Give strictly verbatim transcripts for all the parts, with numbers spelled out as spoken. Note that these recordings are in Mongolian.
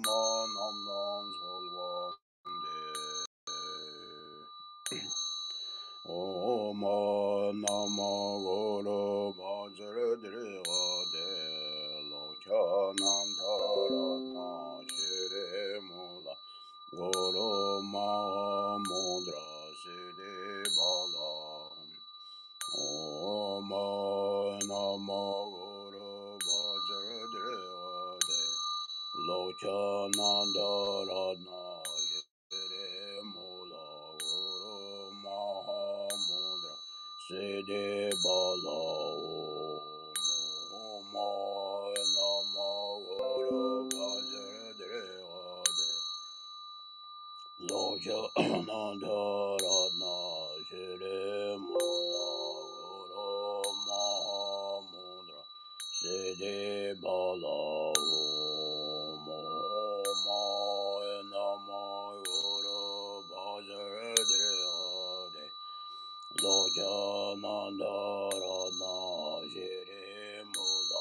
남남 설왕대 오마 나마고로 바저드레가데 로차난타라나 시레모라 고로 마모드라 시데발라 오마 나마고로 바저드레가데 로차난타라나 시레모라 고로 마모드라 시데발라 오마 나마고로 바저드레가데 로차난타라나 시레모라 고로 마모드라 시데발라 오마 나마고로 바저드레가데 로차난타라나 시레모라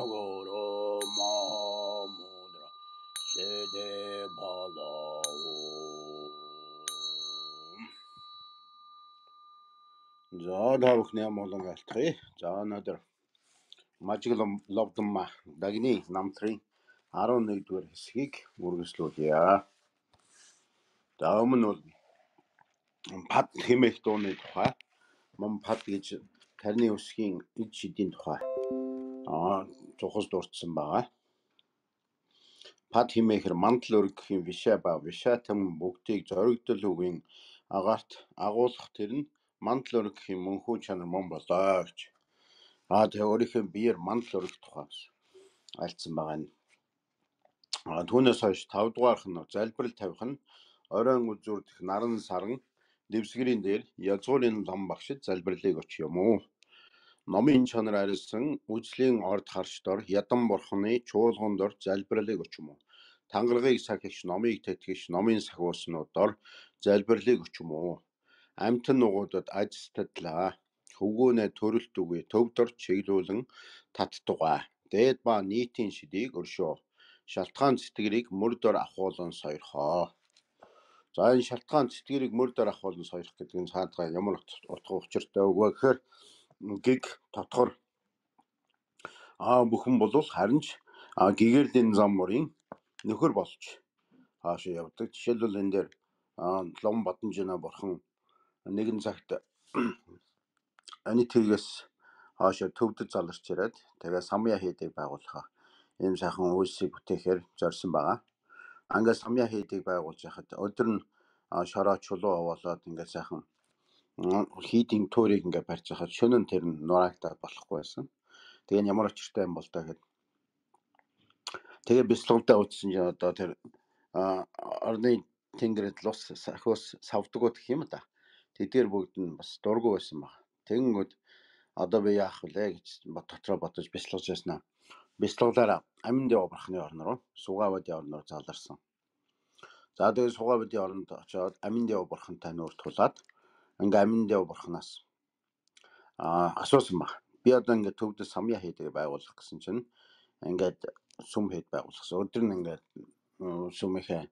고로 마모드라 시데발라 За давхны амолон алтхи. За өнөөдөр мажиглом ловдомма дагны намтрын арван нэгдүгээр хэсгийг үргэлжлүүлье. За өмнө бол пад хэмээх дууны тухай, мөн пад гэж тарны үсгийн ид шидийн тухай аа цухас дурдсан байгаа. Пад хэмээхэр мандал өргөхийн вишаа ба вишаатам бүгдийг зоригдол үгийн агаарт агуулах тэр нь мандал өргөхийн мөнхөө чанар мөн болоо гэж. Аа тэгээ өөрийнхөө биеэр мандал өргөх тухай альцсан байгаа нь. Аа түүнээс хойш тав дугаарх нь залбирал тавих нь оройн үзүүрдэх наран саран дэвсгэрийн дээр язгуурын лам багшид залбирлыг очих юм уу? Номын чанар арилсан үзлийн орд харш дор ядан бурхны чуулган дор залбирлыг очих юм уу? Тангарагыг сахигч номыг тэтгэгч номын сахиуснууд дор залбирлыг очих юм уу? Амтан нугуудад ажистадлаа хөвгөөнэ төрөлт үгүй төвдөр чиглүүлэн таттугай дээд ба нийтийн шидийг өршөө шалтгаан цэтгэрийг мөрдөр ахуулан сойрхоо. За энэ шалтгаан цэтгэрийг мөрдөр ахуулан сойрох гэдэг нь цаадгаа ямар утга учиртай өгөө гэхээр гиг тотгор аа бүхэн болов харин ч гэгэрлийн зам мөрийн нөхөр болж хаашаа явдаг. Жишээлбэл энэ дээр лом Бадамжина бурхан нэгэн цагт анитгээс хаашаа төвдөд заларч ирээд тэгээ самья хийдэг байгуулах ийм сайхан үйлсийг бүтээхээр зорьсон байгаа. Ангаас самья хийдэг байгуулж яхад өдөр нь шороо чулуу овоолоод ингээд сайхан хийдing туурийг ингээд барьж хахад шөнө нь тэр нь нураагдаад болохгүй байсан. Тэгээ ямар очиртай юм бол та гэхэд тэгээ бяцлагтай утсан чинь одоо тэр орны тэнгэрд лус сахиус савдгууд гэх юм да. Тэдгээр бүгд нь бас дургу байсан баг. Тэгэнгүүт одоо би яах вүлээ гэж дотроо бодож бяцлагж яснаа. Бяцлаглаараа аминд явбархны орн руу Сугавадын орн руу заларсан. За тэгээ Сугавадын оронд очиод аминд явбархантай нүүр тулаад ингээ аминд явбархнаас аа асуусан баг. Би одоо ингээ төвдөд самья хийдэг байгуулах гэсэн чинь ингээд сүм хэд байгуулсан. Өдөр нь ингээд сүмийнхээ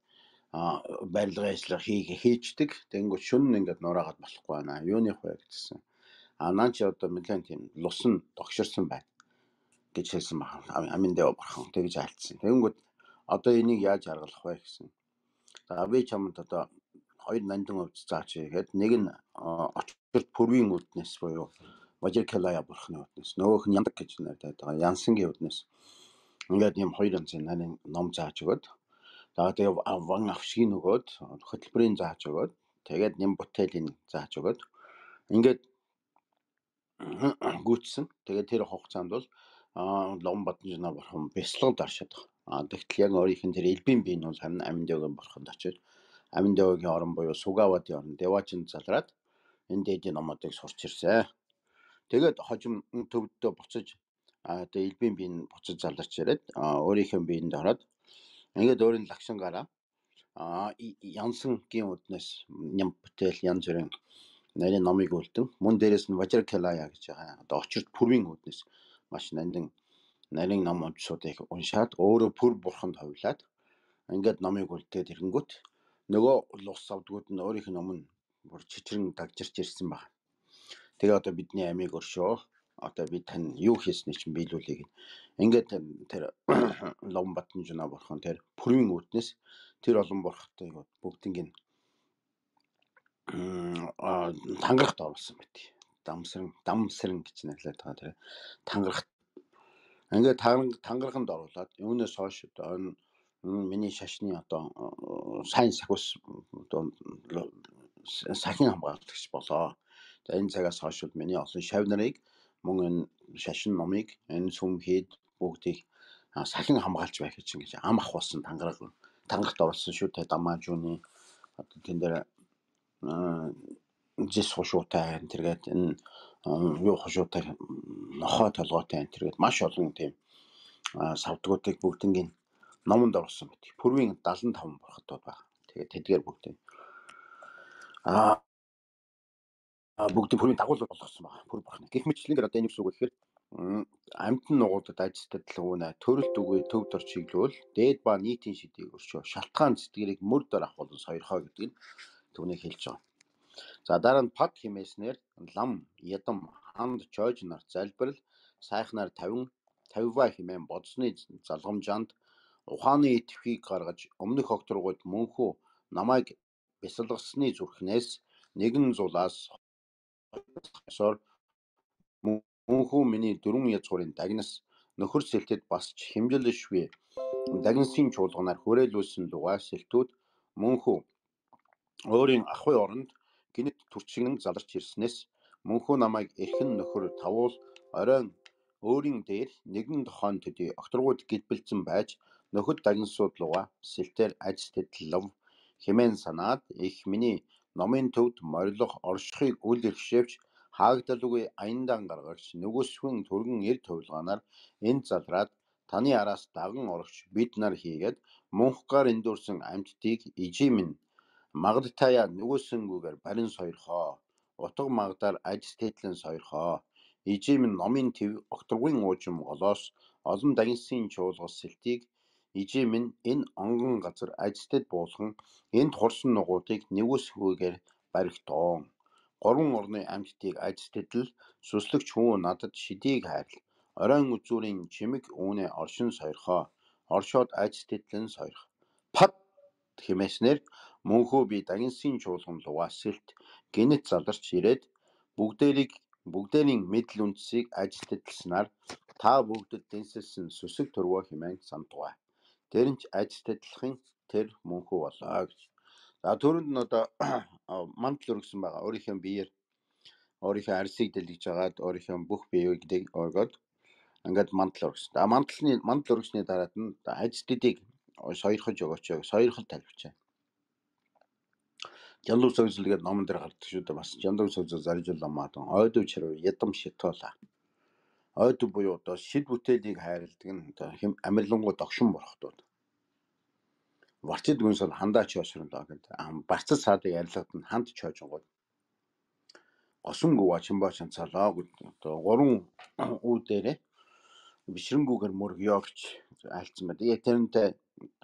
барилгын ажлыг хийгээ хийждэг. Тэнгүүт шөнө нь ингээд нураагаад болохгүй байна. Юуных вэ гэсэн. А наа чи одоо нэлээд тийм лус нь догширсан байна гэж хэлсэн баг. Аминд явбархан тэгж альцсан. Тэнгүүт одоо энийг яаж аргалах вэ гэсэн. За би чамд одоо хоёр нандин өвч заач гээд нэг нь очирт пүрвийн үднэс буюу Важиркалая бурхны үднэс, нөгөөх нь яндаг гэж нэрлэдэг байгаа янсангийн үднэс. Ингээд ийм хоёр янзын нарийн ном зааж өгöd. За тэгээ ван авшгийн нөгөөд хөтөлбөрийн зааж өгöd. Тэгээд нэм бүтээлийн зааж өгöd. Ингээд гүйтсэн. Тэгээд тэр хугацаанд бол лом Бадамжина бурхан бяцлагд оршоод байгаа. А тэгтэл яг өөрийнх нь тэр элбийн бие нь бол харин аминд явгийн бурханд очиж аминд явгийн орн буюу Сугавадын орн Девачинд залраад энэ дээдийн номуудыг сурч ирсэн. Тэгээд хожим төвдөө буцаж одоо элбийн бие нь буцаж заларч ирээд өөрийнхөө биеинд ороод ингээд өөрийн лагшингаараа янсангийн үднэс ням бүтээл янз бүрийн нарийн номыг үлдэн мөн дээрээс нь Важиркалая гэж байгаа. Одоо очирт пүрвийн үднэс маш нандин нарийн номуудсуудыг уншаад өөрөө пүр бурханд хувилаад ингээд номыг үлдээд ирэнгүүт нөгөө улс авдгууд нь өөрийнх нь өмнө бүр чичрэн дагжирч ирсэн баг. Тэгээ одоо бидний амийг өршөө. Одоо би тань юу хийсний чинь биелүүлэе гэн. Ингээд тэр Ломбатн жина бурхан тэр пүрвийн үүднээс тэр олон бурхтай бүгднийг тангарахт оруулсан байт. Дамсран дамсран гэж нэрлээд байгаа тэр тангарах. Ингээд тангараханд оруулаад юунаас хойш одоо миний шашны одоо сайн сахиус одоо сахин хамгаалагч болоо. За энэ цагаас хойш миний олон шав нарыг мөн энэ шашин номыг энэ сүмхийд бүгдийг сахин хамгаалж байх гэж ингэж ам ахуулсан тангараг тангарахт оруулсан шүү те дамажууны одоо тэн дээр жис хушуутай тэргээд энэ юу хушуутай нохоо толгойтой тэргээд маш олон тийм савдгуудыг бүгднийг номонд оруулсан мэт. Пүрвийн даалан таван бурхтууд байна. Тэгээд тэдгээр бүгд аа бүгд пүрвийн дагуулууд болгосон байна. Пүр бурхны. Гэх мэтлэн одоо энэ юу үг гэхээр амьтан нугуудад ажилтдал өгнө. Төрөлт үгүй төв дор чиглүүл дээд ба нийтийн шидийг өршөө. Шалтгаан сэтгэрийг мөр дор ахуулан сойрхоо гэдэг нь түүнийг хэлж байгаа. За дараа нь пад химээснээр лам, ядам, ханд, чойж нар залбирал, сайхнаар тавин тавива химэн бодсны залгамжаанд ухааны итгэхийг гаргаж өмнөх огторгууд мөнхөө намайг бясалгасны зүрхнээс нэгэн зулаас сор мөнхөө миний дөрвөн язгуурын дагнас нөхөр сэлтэд бас химжилшгүй дагнасын чуулганаар хүрээлүүлсэн лугаа сэлтүүд мөнхөө өөрийн ахуй оронд гинэт төрчгөн заларч ирснээс мөнхөө намайг эрхэн нөхөр тавуул оройн өөрийн дээр нэгэн тохойн төдий огторгууд гэлбэлцэн байж нөхөд дагнасууд лугаа сэлтээр ажилтдал хэмээн санаад их миний номын төвд морилох оршихыг үл ирхшээвч хаагдалгүй аяндаан гаргагч нөгөөсхөн түргэн эр төвлганаар энэ залраад таны араас даган орогч бид нар хийгээд мөнхгаар эндүрсэн амьтдыг ижимэн магадтаяа нөгөөсөнгүүгээр барин сойрхоо утга магдаар ажилтдал сойрхоо ижимэн номын төв огторгын уужим голоос олон дагнасын чуулгас сэлтийг ижимэн энэ онгон газар ажилтдад буулхан энд хурсан нугуудыг нөгөөсгүйгээр баригтоон гурван орны амьтдыг ажилтдал сүслэгч хүн надад шидийг хайрл оройн үзүүрийн чимэг үүнэ оршин сойрхоо оршоод ажилтдал нь сойрх пад химээснээр мөнхөө би дагнасын чуулган лугаа сэлт гинэт заларч ирээд бүгдээрийг бүгдээрийн мэдл үндсийг ажилтдалснаар та бүгдэд дэнсэлсэн сүсэг төрвөө хэмээн сандугай. Тэр нь ажилтдалхын тэр мөнхөө болоо гэж. За түрүүнд нь одоо мандал өргөсөн байгаа. Өөрийнхөө биеэр өөрийнхөө арсыг дэлгэж агаад өөрийнхөө бүх биеийг өргөд ингээд мандал өргөсөн. А мандалны мандал өргөсний дараад нь ажилтдыг сойрхож өгөөч. Сойрхол талбичаа. Жанлуу сойрсолгээд номон дээр гардаг шүү дээ. Бас жанлуу сойрсол заржуулмаад ойдов чарав ядам шитоола. Ойдов буюу одоо шид бүтээлийг хайрладаг нь одоо хэм амирлангуу догшин бурхтууд. Варчид гүнсэл хандаа чойшрон даа гэдэг. Барцад саадыг арилгад нь ханд чойжонгууд. Госун гуа чимбаа чанцалаа гэдэг. Одоо гурван үү дээрээ бишрэнгүүгээр мөргөё гэж айлцсан байна. Яг тэрнтэй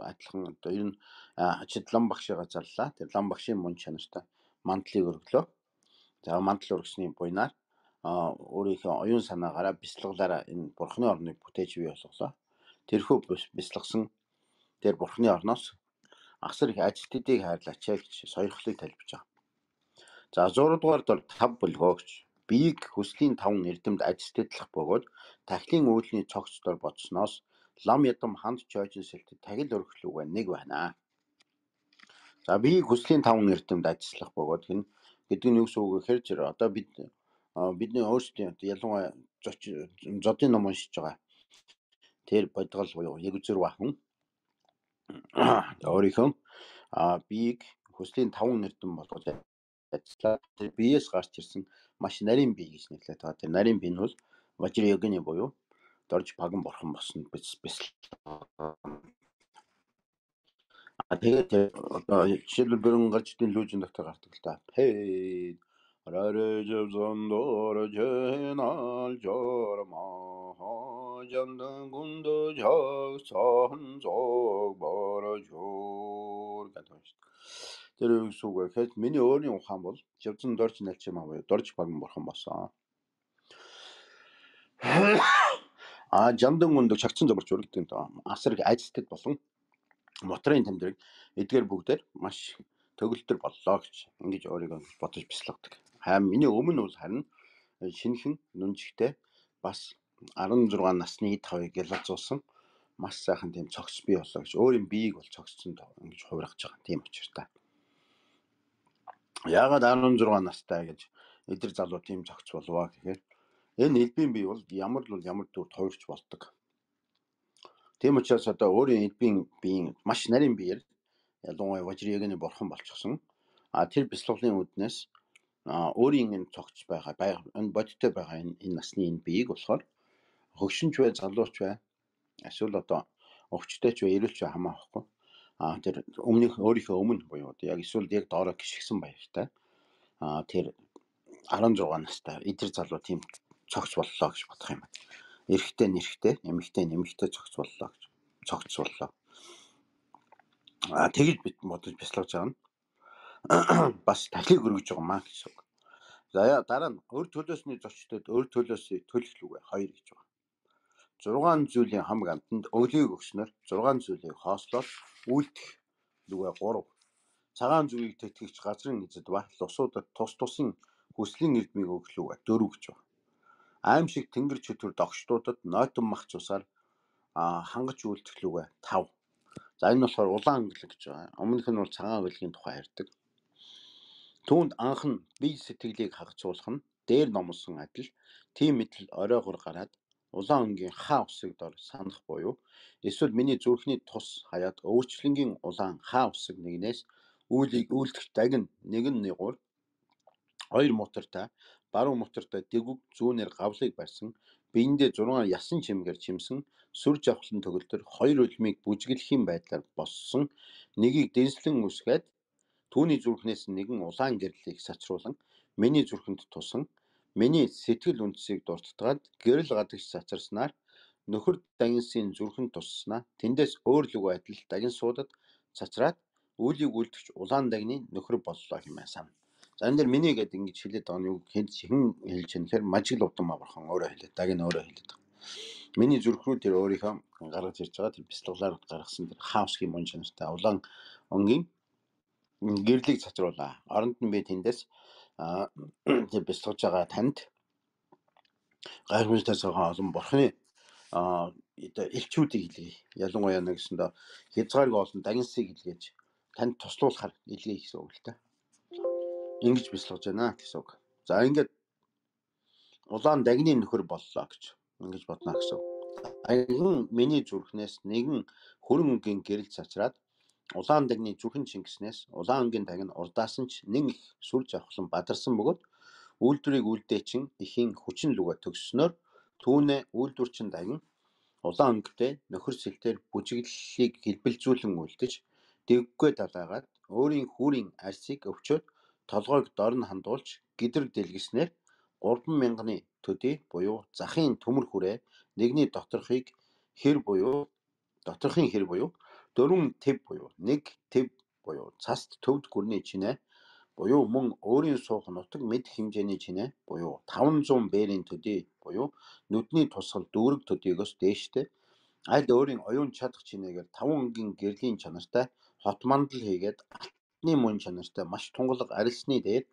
адилхан одоо ер нь хачид лам багшигаа зарлаа. Тэр лам багшийн мөн чанартай мандлыг өргөлөө. За мандал өргөсний буйнаар өөрийнхөө оюун санаагаараа бяцлаглаараа энэ бурхны орныг бүтээж бий болголоо. Тэрхүү бяцлагсан тэр бурхны орноос асар их ажилтдыг хайрлаач гэж сойрхлыг талбиж байгаа. За зураг дугаар дор тав бүлгөөгч биеийг хүслийн таван эрдэмд ажилтдах бөгөөд тахилын үйлний цогц дор бодсноос лам ядам ханд чойжин сэлтэд тахил өргөлүүгээ нэг байна. За биеийг хүслийн таван эрдэмд ажиллах бөгөөд хэн гэдэг нь юу гэсэн үг вэ гэхээр одоо бид бидний өөрсдийн ялангуяа зодын ном уншиж байгаа. Тэр бодгол буюу яг үзэр бахан өөрийнхөө биеийг хүслийн таван эрдэм болгож ажиллаа. Тэр биеэс гарч ирсэн маш нарийн бие гэж нэрлэдэг. Тэр нарийн бие нь бол важир йогны буюу дорж паган бурхан болсон бис бис. А тэгээд одоо жишээлбэл бүрэн гарч идэх лүүжин дотор гардаг л та. Хей рарэ жавзондор жэнал жорма 전등 군도 적선족 벌어줄 гэдэг шүү. Тэр юу гэсэн үг вэ гэхэд миний өөрийн ухаан бол живцэн дорж нэлчим аа дорж багн бурхан болсон. А жандан гүндө чагцсан зовлож өргөдөг доо. Асар айцтад болон моторын тэмдэг эдгээр бүгдээр маш төгөлтөр боллоо гэж ингэж өөрийгөө бодож бяцлагдаг. Харин миний өмнө бол харин шинхэн нүнжигтэй бас арван зургаан насны тавыг ялцуулсан маш сайхан тийм цогц бий боллоо гэж өөрийн биеийг бол цогцсон доо ингэж хувиргаж байгаа. Тийм учиртай. Яагаад арван зургаан настай гэж эдгээр залуу тийм цогц болваа гэхээр энэ элбийн бие бол ямар л ямар дүрд хувирч болдог. Тийм учраас одоо өөрийн элбийн биеийн маш нарийн биеэр ялангуяа важриягийн бурхан болчихсон. А тэр бяцлаглалын үднээс өөрийн энэ цогц байгаа энэ бодиттой байгаа энэ насны энэ биеийг болохоор хөгшинч бай, залууч бай, эсвэл одоо өвчтэй ч бай, эрүүлч бай хамаахгүй. А тэр өмнөх өөрийнхөө өмнө буюу яг эсвэл яг доороо гიშгсэн баяртай. А тэр арван зургаан настай эдгээр залуу тийм цогц боллоо гэж бодох юм байна. Эрэгтэй нэрхтэй, эмэгтэй нэмэгтэй цогц боллоо гэж цогц боллоо. А тэгж бид бодож бяцлагж байгаа нь бас тахлыг өргөж байгаа маа гэсэн үг. За дараа нь өр төлөөсний зочдод өр төлөөсөө төлөхлүүгээ хоёр гэж байна. зургаан зүйлийн хамаг амтанд өглийг өгснөр зургаан зүйлийг хоослоод үлдэх лүгээ гурав. Цагаан зүгийг тэтгэгч газрын эзэд ба лусуудад тус тусын хүслийн эрдмийг өглүүгээ дөрөв гэж байна. Аим шиг тэнгэр чөтгөр догштуудад нойтон мах цусаар хангаж үлдэх лүгээ тав. За энэ болохоор улаан өнгөлөг гэж байгаа. Өмнөх нь бол цагаан өнгөлөгийн тухай ярьдаг. Түүнд анхан бие сэтгэлийг хагацуулах нь дээр номлосон адил тийм мэдл оройгоор гараад улаан өнгийн хаа усыг дор санах буюу эсвэл миний зүрхний тус хаяад өөрчлөнгийн улаан хаа усыг нэгнээс үүлийг үлдэх дагин нэгэн нэгур хоёр мотортой баруун мотортой дэгүг зүүнээр гавлыг барьсан биендээ зургаан ясан чимгээр чимсэн сүр жавхлан төгөлдөр хоёр үлмийг бүжиглэхийн байдлаар боссон нэгийг дэнслэн үсгээд түүний зүрхнээс нэгэн улаан гэрлийг сачруулан миний зүрхэнд тусан миний сэтгэл үндсийг дуртатгаад гэрэл гадагш сацарснаар нөхөр дагинсын зүрхэнд тусснаа тэндээс өөр лүг адил дагин суудад цацраад үүлийг үлдэгч улаан дагны нөхөр боллоо хэмээн сан. За энэ дэр миний гэдэг ингэж хэлээд байгаа нь юу хэн хэн хэлж юм гэхээр мажиг ловдон мавархан өөрөө хэлээд дагин өөрөө хэлээд байгаа. Миний зүрхрүү тэр өөрийнхөө гаргаж ирж байгаа тэр бяцлаглаар гаргасан тэр хаусгийн мөн чанартай улаан өнгийн гэрлийг цацруулаа. Оронд нь би тэндээс тэр бяцлагж байгаа танд гайхамшигтай цагаан олон бурхны элчүүдийг илгээе. Ялангуяа нэгсэндээ хязгааргүй олон дагинсыг илгээж танд туслуулахар илгээе гэсэн үг л дээ. Ингэж бяцлагж байна гэсэн үг. За ингээд улаан дагны нөхөр боллоо гэж ингэж бодно гэсэн. Аян миний зүрхнээс нэгэн хөрөн өнгийн гэрэл цацраад улаан дагны зүрхэн чингэснээс улаан өнгийн дагн урдаасан ч нэг их сүр жавхлан бадарсан бөгөөд үйлдвэрийг үлдээчин ихийн хүчин лүгэ төгссөнөөр түүнээ үйлдвэрчин дагн улаан өнгөтэй нөхөр сэлтээр бүжиглэлийг хэлбэлзүүлэн үлдэж дэгвгүй далайгаад өөрийн хүүрийн арсыг өвчөөд толгойг дор нь хандуулж гидрэг дэлгэснээр гурван мянганы төдий буюу захын төмөр хүрээ нэгний доторхыг хэр буюу доторхын хэр буюу дөрвөн төв буюу нэг төв буюу цаст төвд гүрний чинээ буюу мөн өөрийн суух нутаг мэд хэмжээний чинээ буюу таван зуун бээрийн төдий буюу нүдний тусгал дүүрэг төдийгөөс дээштэй аль өөрийн оюун чадах чинээгээр таван өнгийн гэрлийн чанартай хот мандал хийгээд алтны мөн чанартай маш тунгалаг арилсны дээр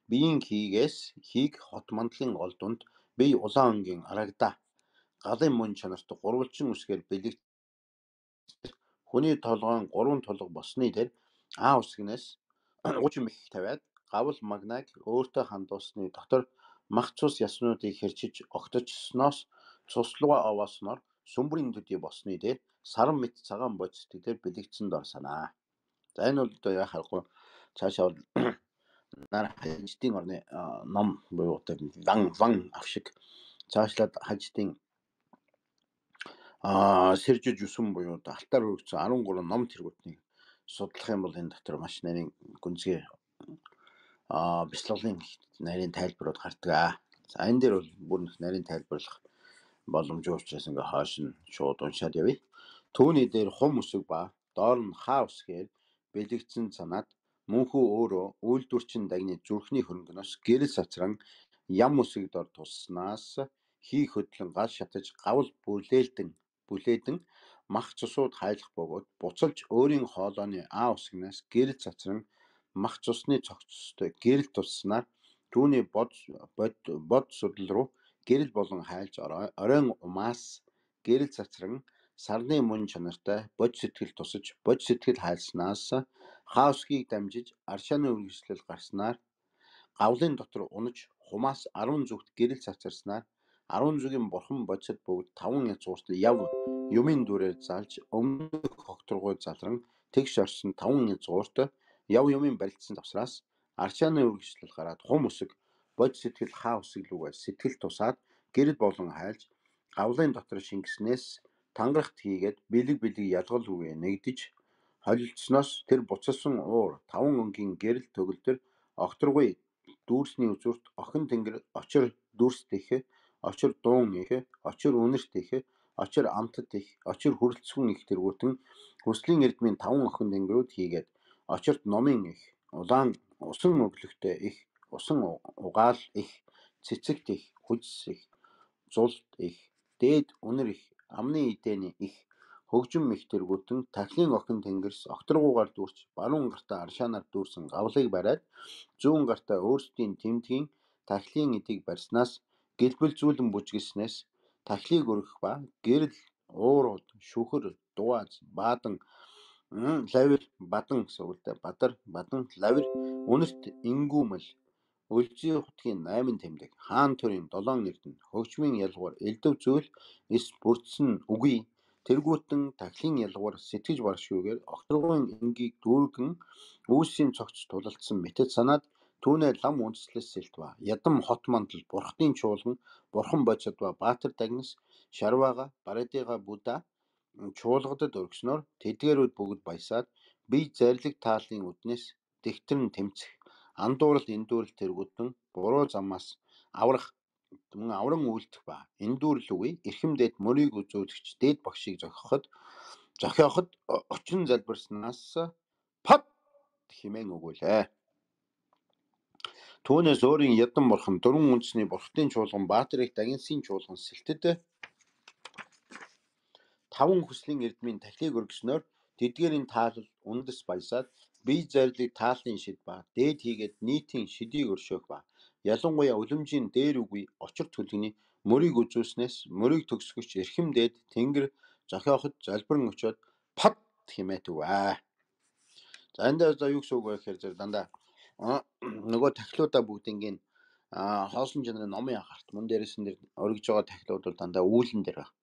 биеийн хийгээс хийг хот мандлын гол дунд бие улаан өнгийн арагдаа галын мөн чанартай гурвалжин үсгээр бэлэг хүний толгойн гурван тулга болсны дээр А үсгнээс гучин мэх тавиад гавл магнаг өөртөө хандуулсны дотор мах цус яснуудыг хэрчиж огточсноос цуслуга овоосноор сүмбрийн төдий болсны дээр саран мэт цагаан бодисдгээр бэлэгдсэн дор санаа. За энэ бол одоо яхахгүй цаашаа нар хаждын орны ном буюу ван ван авшиг цаашлаад хаждын а сэржиж үсэн буюу алтаар өргөцсөн арван гурван ном тэргүүтнийг судлах юм бол энэ дотор маш нарийн гүнзгий а бяцлаглалын нарийн тайлбарууд гардаг. За энэ дээр бол бүр нарийн тайлбарлах боломжгүй учраас ингээ хааш нь шууд уншаад явъя. Түүний дээр хум үсэг ба доор нь хаа үсгээр бэлэгдсэн санаад мөнхөө өөрөө үйлдвэрчин дагны зүрхний хөрөнгөнөөс гэрэл сацран ям үсэг дор туснаас хий хөдлөн гал шатаж гавл бүлээлдэн бүлээдэн мах цусууд хайлах бөгөөд буцалж өөрийн хоолойны аа үсгнээс гэрэл цацран мах цусны цогцтой гэрэл туснаар түүний бод бод судал руу гэрэл болон хайлж оройн умаас гэрэл цацран сарны мөн чанартай бод сэтгэл тусаж бод сэтгэл хайлснаас хаусгийг дамжиж аршааны үргэлжлэл гарснаар гавлын дотор унаж хумаас арван зүгт гэрэл цацарснаар арван зүгийн бурхан бодсод бүгд таван язгуурт яв юмын дүрээр залж өмнөх хогторгой залран тэгш орсон таван язгуурт яв юмын барилдсан тавсраас аршааны үргэлжлэл гараад хум үсэг бод сэтгэл хаа үсэг лүгээ сэтгэл тусаад гэрэл болон хайлж гавлын дотор шингэснээс тангарахт хийгээд бэлэг бэлэг ялгал үгээ нэгдэж холилдсноос тэр буцалсан уур таван өнгийн гэрэл төгөлдөр огторгүй дүүрсний үзүүрт охин тэнгэр очир дүүрсдэх очир дуун их очир үнэрт их очир амтд их очир хүрэлцгүн их тэргүүтэн хүслийн эрдмийн таван охин тэнгэрүүд хийгээд очирт номын их улаан усан өглөхтэй их усан угаал их цэцэгт их хүчс их зулт их дээд үнэр их амны эдэний их хөгжим их тэргүүтэн тахлын охин тэнгэрс огторгуугаар дүүрч баруун гартаа аршаанаар дүүрсэн гавлыг бариад зүүн гартаа өөрсдийн тэмдгийн тахлын эдийг барьснаас гэлбэлзүүлэн бүжгэлснээс тахлыг өргөх ба гэрэл уурууд шүхэр дуаз баадан лавир бадан гэсэлтэй бадар бадан лавир үнэрт ингүүмэл өлзий хутгийн найман тэмдэг хаан төрийн долоон эрдэнэ хөгжмийн ялгуур элдв зүйл эс бүрдсэн үгүй тэргүүтэн тахлын ялгуур сэтгэж баршгүйгээр огторгойн энгийг дүүргэн үүсийн цогц тулалдсан мэтэд санаад түүнээ лам үндэслэс сэлт ба ядам хот мандал бурхтын чуулган бурхан бодсод ба баатар дагнас шарваага барадыга будда чуулгадад өргснөөр тэдгээрүүд бүгд баясаад бие зарлиг таалын үднэс дэгтэрн тэмцэх андуурал эндүүрэл тэргүүтэн буруу замаас аврах мөн авран үйлдэх ба эндүүрэл үгүй эрхэмдээд мөрийг үзүүлэгч дээд багшийг зохиход зохиоход очин залбирснаас пат химэн өгүүлээ. Түүнээс өөрийн ядам бурхан дөрвөн үндэсний бурхтын чуулган баатарыг дагинсын чуулган сэлтэд таван хүслийн эрдмийн тахлыг өргснөөр тэдгээрийн таалал үндэс баясаад бие зарлиг тааллын шид ба дээд хийгээд нийтийн шидийг өршөөх ба ялангуяа үлэмжийн дээр үгүй очир төлгөний мөрийг үзүүлснээс мөрийг төгсгөч эрхэмдээд тэнгэр зохиоход залбирэн очиод пат химээд үвэ. За энэ дээр юу гэсэн үг вэ гэхээр дандаа нөгөө тахлуудаа бүгднийг хоосон жанрын номын агаарт мөн дээрээс нь өргөж байгаа тахлууд бол дандаа үүлэн дээр байна.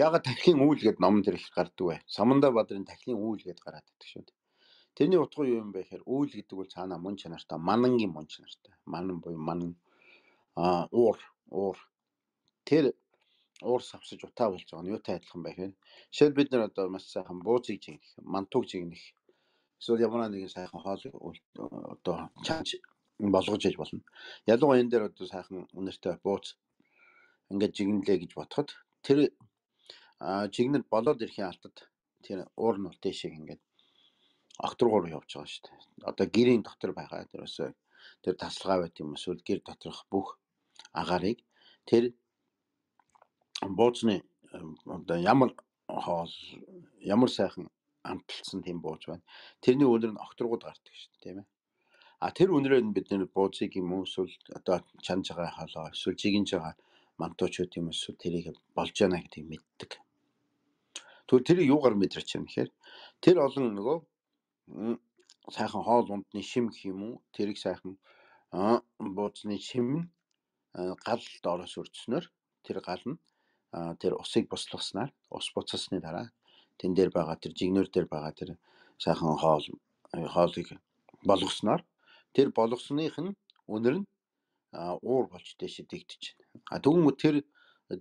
Яагаад тахлын үйл гэд номон дээр их гардаг вэ? Саманда Бадрын тахлын үйл гэд гараад байдаг шүү дээ. Тэрний утга юу юм бэ гэхээр үйл гэдэг бол цаанаа мөн чанартай, манангийн мөн чанартай. Манан буюу манан аа уур уур тэр уур савсаж утаа болж байгаа нь юутай адилхан бэ гэхээр шил бид нар одоо маш сайхан буузыг жигнэх, мантуг жигнэх эсвэл ямар нэгэн сайхан хоол одоо чанж болгож яж болно. Ялангуяа энэ дээр одоо сайхан үнэртэй бууз ингээд жигнэлээ гэж бодоход тэр жигнэл болоод ирэхийн алтад тэр уур нь үлдээшиг ингээд огторгоор явж байгаа шүү дээ. Одоо гэрийн дотор байгаа тэрөөсөө тэр тасалгаа байт юм эсвэл гэр доторх бүх агаарыг тэр буузны одоо ямар хоол ямар сайхан амталсан тийм бууз байна. Тэрний өнөр нь огторгууд гардаг шүү дээ, тийм ээ. А тэр өнөрөө нь бид нэр буузыг юм уу эсвэл одоо чанж байгаа хоолоо эсвэл жигинж байгаа мантуучуд юм эсвэл тэрийг болж яана гэдгийг мэддэг. Тэгвэл тэр юугаар мэдэрч юм гэхээр тэр олон нөгөө сайхан хоол ундны шим гэх юм уу тэрийг сайхан буузны шим гал доороос өрдснөөр тэр гал нь тэр усыг буслгаснаар ус буцалсны дараа тэн дээр байгаа тэр жигнэр дээр байгаа тэр сайхан хоол хоолыг болгосноор тэр болгосных нь өнөр нь уур болж дэше дэгдэж байна. А тэгвэл тэр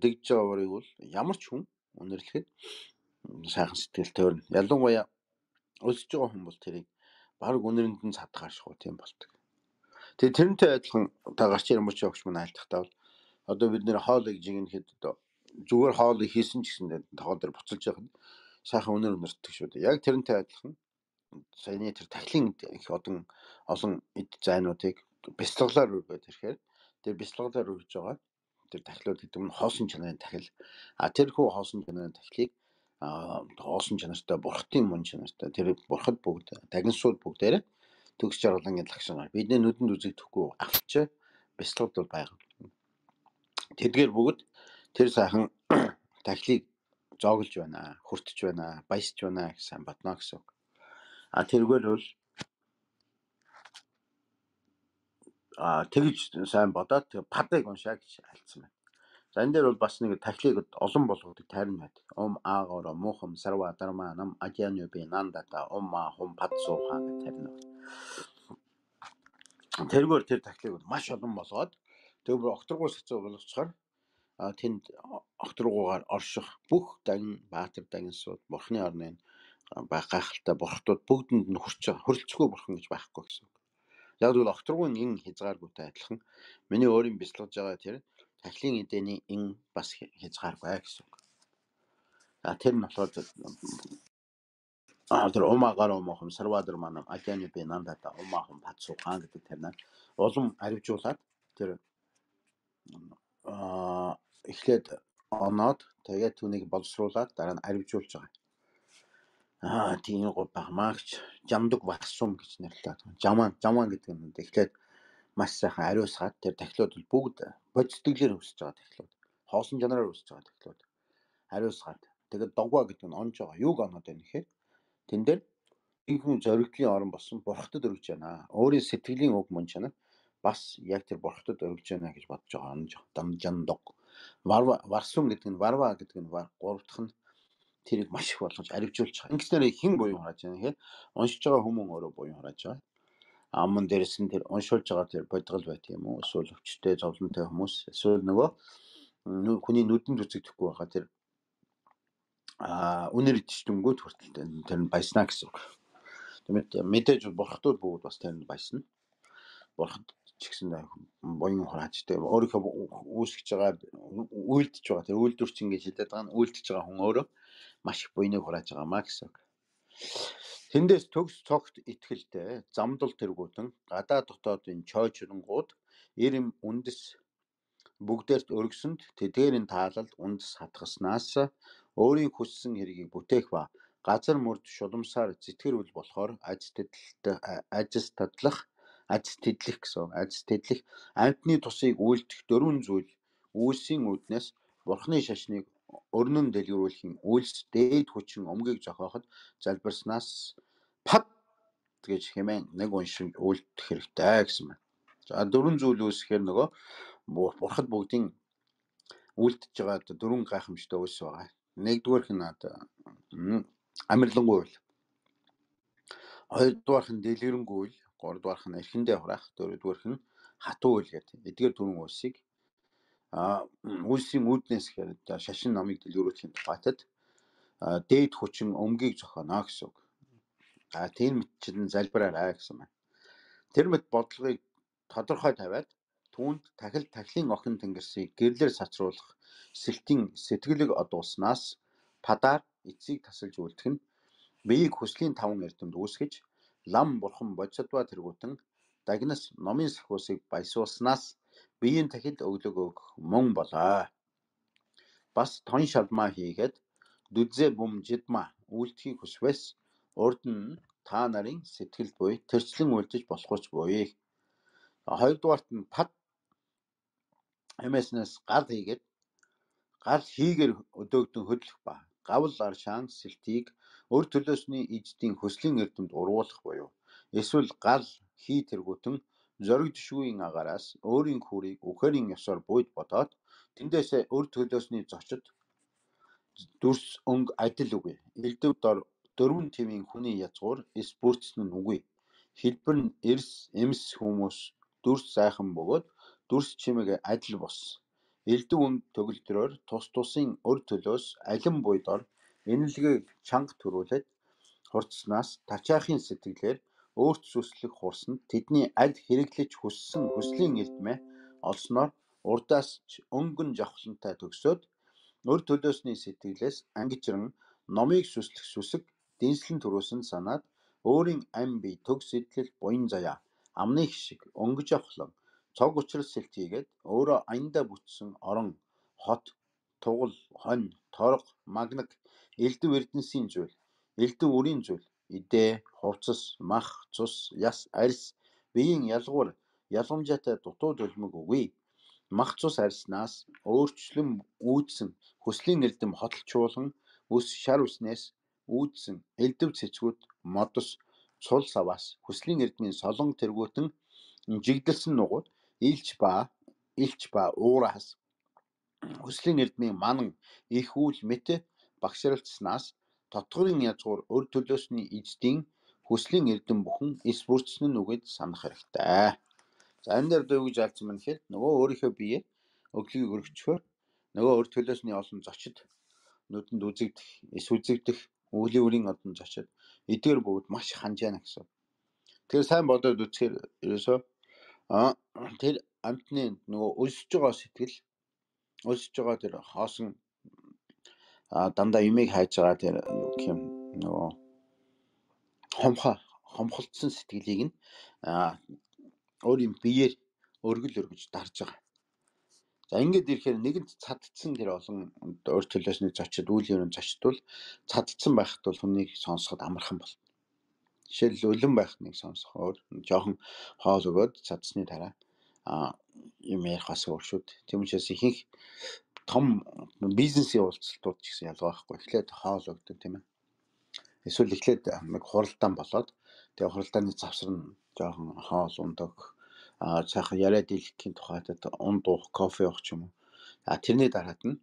дэгдэж байгаа уурыг бол ямар ч хүн өнөрлөхөд сайхан сэтгэл төрнө. Ялангуяа өлсөж байгаа хүн бол тэрийг баг өнөринд нь цадгааршгүй тийм болдог. Тэгээ тэрнтэй адилхан та гарч ирэн мөч өгч мөн айлтахтаа бол одоо бид нэр хоолыг жигнэхэд одоо зүгээр хоол хийсэн ч гэсэн тоогоо дээр буцалж байгаа нь сайхан өнөр өнөртдөг шүү дээ. Яг тэрнтэй адилхан саяны тэр тахилын их одон олон эд зайнуудыг бяцлаглаар үргээд ирэхээр тэр бяцлаглаар үрж байгаа тэр тахилууд гэдэг нь хоосон чанарын тахил. А тэр хүү хоосон чанарын тахилыг а хоосон чанартай бурхтын мөн чанартай тэр бурхад бүгд тагнсууд бүгдээр төгс жаргалангийн лагшнаар бидний нүдэнд үзэгдэхгүй авч бяцлагд бол байгаа. Тэдгээр бүгд тэр сайхан тахилыг зооглож байна, хүртэж байна, баясж байна гэсэн батна гэсэн. А тэргээр бол а тэгж сайн бодоод падыг уншаа гэж альцсан байна. За энэ дээр бол бас нэг тахилыг олон болгодог тайрн байдаг. Ом аагоро мухам сарва дарма нам ажианы би нандата омма хум падсуухан гэх тайрн. Тэргээр тэр тахилыг маш олон болгоод тэр окторгуус хэцүү болгочоор а тэнд окторгуугаар орших бүх дагин баатар дагинсууд бурхны орны гайхалтай бурхтууд бүгдэнд нь хүрч байгаа. Хөрөлцөхгүй бурхан гэж байхгүй гэсэн. Яг л окторгуун ин хязгааргүйтэй адилхан миний өөрийн бяцлагж байгаа тэр тахилын эдэний ин бас хязгааргүй гэсэн. А тэр нь болохоор а тэр омагаар омохом сарвадар манам ажааны би нандата омахом падсуухан гэдэг тэрнээ улам аривжуулаад тэр а эхлээд оноод тэгээд түүнийг боловсруулад дараа нь аривжуулж байгаа. Аа тийм гоо багмаагч жамдаг варсум гэж нэрлэдэг. Жаман жаман гэдэг нь эхлээд маш сайхан ариусгаад тэр тахилууд бүгд бодцтгэлээр өсөж байгаа тахилууд. Хоосон жанраар өсөж байгаа тахилууд. Ариусгаад тэгээд догва гэдэг нь онж байгаа. Юуг оноод байна гэхээр тэн дээр ихэнх зоригтлын орон болсон бурхтад өргөж байна. Өөрийн сэтгэлийн уг мөн чанар бас яг тэр бурхтад өргөж байна гэж бодож байгаа. Онж дамжандаг. Варва варсум гэдэг нь варва гэдэг нь гурав дахь нь тэрийг маш их болгож аривжуулж байгаа. Ингэснээр хэн буюу харааж байна гэхээр уншиж байгаа хүмүүс өөрөө буюу харааж байгаа. Аман дээрс нь тэр уншуулж байгаа тэр бодгол байт юм уу? Эсвэл өвчтэй зовлонтой хүмүүс эсвэл нөгөө хүний нүдэнд үзэгдэхгүй байгаа тэр а үнэр идчихдэнгүүд хүртэл тэр нь баяснаа гэсэн үг. Тэгмээ мэдээж бурхтууд бүгд бас тэр нь баясна. Бурхад ч гэсэн буян хурааж тэр өөрийнхөө үүсгэж байгаа үйлдэж байгаа тэр үйлдвэрч ингэж хэлээд байгаа нь үйлдэж байгаа хүн өөрөө маш их буйныг хурааж байгаамаа гэсэн. Тэндээс төгс цогт итгэлтэй замдал тэргүүтэн гадаа дотоодын чойжрангууд ирэм үндэс бүгдээрт өргөсөнд тэдгээрийн таалалд үндэс хатгаснаас өөрийн хүссэн хэргийг бүтээх ба газар мөрд шуламсаар зэтгэрүүл болохоор ажил тэдлэлт ажил тадлах ажил тэдлэх гэсэн ажил тэдлэх амьтны тусыг үйлдэх дөрвөн зүйл үйлсийн үүднээс бурхны шашныг өрнөн дэлгэрүүлэхийн үйлс дээд хүчин өмгийг зохиоход залбирснаас пад гэж хэмээн нэг уншин үйлдэх хэрэгтэй гэсэн байна. За дөрвөн зүйл үүсгэхээр нөгөө бурхад бүгдийн үйлдэж байгаа дөрвөн гайхамшигтай үйлс байгаа. Нэгдүгээрх нь амирлангуй үйл. Хоёрдугаарх нь дэлгэрэнгүй үйл, гуравдугаарх нь эрхэндээ хураах, дөрөвдүгээрх нь хатуу үйл гэдэг. Эдгээр дөрвөн үйлсийг а үйлсийн үүднээс гэхээр шашин номыг дэлгэрүүлэхийн тухайтад дээд хүчин өмгийг зохионо гэсэн үг. А тийм мэтчилэн залбираарай гэсэн байна. Тэр мэт бодлогыг тодорхой тавиад түүнд тахил тахилын охин тэнгэрсийг гэрлэр сацруулах сэлтийн сэтгэлэг одуулснаас падаар эцсийг тасалж үлдэх нь биеийг хүслийн таван эрдэмд үүсгэж лам бурхан бодсодва тэргүүтэн дагнас номын сахиусыг баясуулснаас биеийн тахил өглөг өгөх мөн болоо. Бас тон шалмаа хийгээд дүдзээ бум жидма үйлдэхийг хүсвэс урд нь та нарын сэтгэлд буй тэрчлэн үлдэж болохуйч буй. Хоёрдугаарт нь пад эмэснээс гал хийгээд гал хийгээр өдөөгдөн хөдлөх ба гавл ар шаан сэлтийг өр төлөөсний эждийн хөслийн эрдэмд уруулах буюу эсвэл гал хий тэргүүтэн зориг төшгүйн агаараас өөрийн хүрийг үхэрийн ёсоор бույд бодоод тэндээсээ өр төлөөсний зочид дүрс өнг адил үгүй. Элдв дор дөрвөн тивийн хүний язгуур эс бүрдсэн нь үгүй. Хэлбэр нь эрс эмс хүмүүс дүрс сайхан бөгөөд дүрс чимэг адил бос. Элдв өнг төгөлдрөөр тус тусын өр төлөөс алин буйдор энэлгээ чанга төрүүлээд хурцснаас тачаахын сэтгэлээр өөрт сүслэх хурсанд тэдний аль хэрэглэж хүссэн хүслийн эрдмээ олсноор урдаас ч өнгөн жавхлантай төгсөөд Өр төлөөсний сэтгэлээс ангижран номыг сүслэх сүсэг дэнслэн төрөөсөн санаад өөрийн ам бие төг сэтлэл буян заяа амны хишиг өнгөж авахлан цог учрал сэлт хийгээд өөрөө аяндаа бүтсэн орон хот тугал хонь торго магнаг элдв эрдэнсийн зүйл элдв үрийн зүйл идэ хувцас мах цус яс арьс биеийн ялгуур ялгамжаатай дутууд өлмөг үгүй мах цус арьснаас өөрчлөн үүдсэн хүслийн эрдэм хотолчуулан ус шар үснээс үүдсэн элдв цэцгүүд модос цул саваас хүслийн эрдмийн солон тэргүүтэн жигдэлсэн нугууд илч ба илч ба уураас хүслийн эрдмийн манан их үйл мэт багшралцснаас тотгорын язгуур өр төлөөсний эздийн хүслийн эрдэм бүхэн эс бүрдсэн нь үгэд санах хэрэгтэй. За энэ дээр дөө гэж алдсан мань гэхээр нөгөө өөрийнхөө бие өглөгийг өргөчхөөр нөгөө өр төлөөсний олон зочид нүдэнд үзэгдэх, эс үзэгдэх, өвлийн үрийн одон зочид эдгээр бүгд маш ханж яана гэсэн. Тэгэхээр сайн бодоод үзэхээр ерөөсөө а тэр амтны нөгөө өсөж байгаа сэтгэл өсөж байгаа тэр хоосон а дандаа юмыг хайж байгаа тэр юу гэх юм нөгөө хомхо хомхолцсон сэтгэлийг нь а өөрийн биеэр өргөл өргөж дарж байгаа. За ингээд ирэхээр нэгэнт цадцсан тэр олон өр төлөөсний зочид үйл яврын зочид бол цадцсан байхад бол хүнийг сонсоход амархан бол. Жишээл өлөн байх нэг сонсохоор жоохон хоол өгөөд цадсны дараа а юм ярих бас өөр шүү дээ. Тийм учраас ихэнх том бизнесийн уулзалтууд ч гэсэн ялгаа байхгүй. Эхлээд хоол өгдөг тийм ээ. Эсвэл эхлээд нэг хуралдаан болоод тэгээ хуралдааны завсар нь жоохон хоол ундаг а цаахан яриа дийлэхийн тухайд унд уух кофе уух ч юм уу. А тэрний дараад нь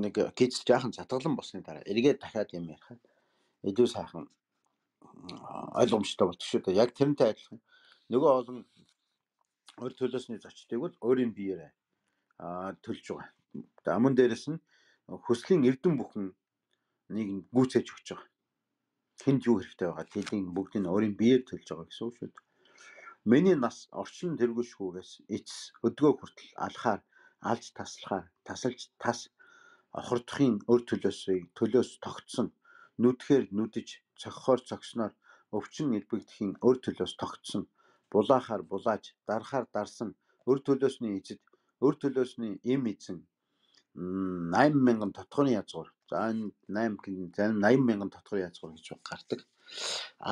нэг гиз жаахан задгалан болсны дараа эргээд дахиад юм ярихад илүү сайхан ойлгомжтой болчих шүү дээ. Яг тэрнтэй адилхан нөгөө олон өр төлөөсний зочдыг бол өөрийн биеэрээ а төлж байгаа. Амун дээрээс нь хүслийн эрдэм бүхэн нэг нь гүйцээж өгч байгаа. Тэнд юу хэрэгтэй байгаа тэдний бүгдийг өөрийн биеэр төлж байгаа гэсэн үг шүү дээ. Миний нас орчин тэргүүлшгүйгээс эцэс өдгөө хүртэл алхаар алж таслахаар тасалж тас хордохын өр төлөөсөө төлөөс тогтсон нүдхээр нүдэж цогхоор цогсноор өвчин элбэгдэхийн өр төлөөс тогтсон булаахаар булааж дарахаар дарсан өр төлөөсний эзэд өр төлөөсний эм эзэн найман мянган тотгоны язгуур за энэ найман мянган тотгоны язгуур гэж гардаг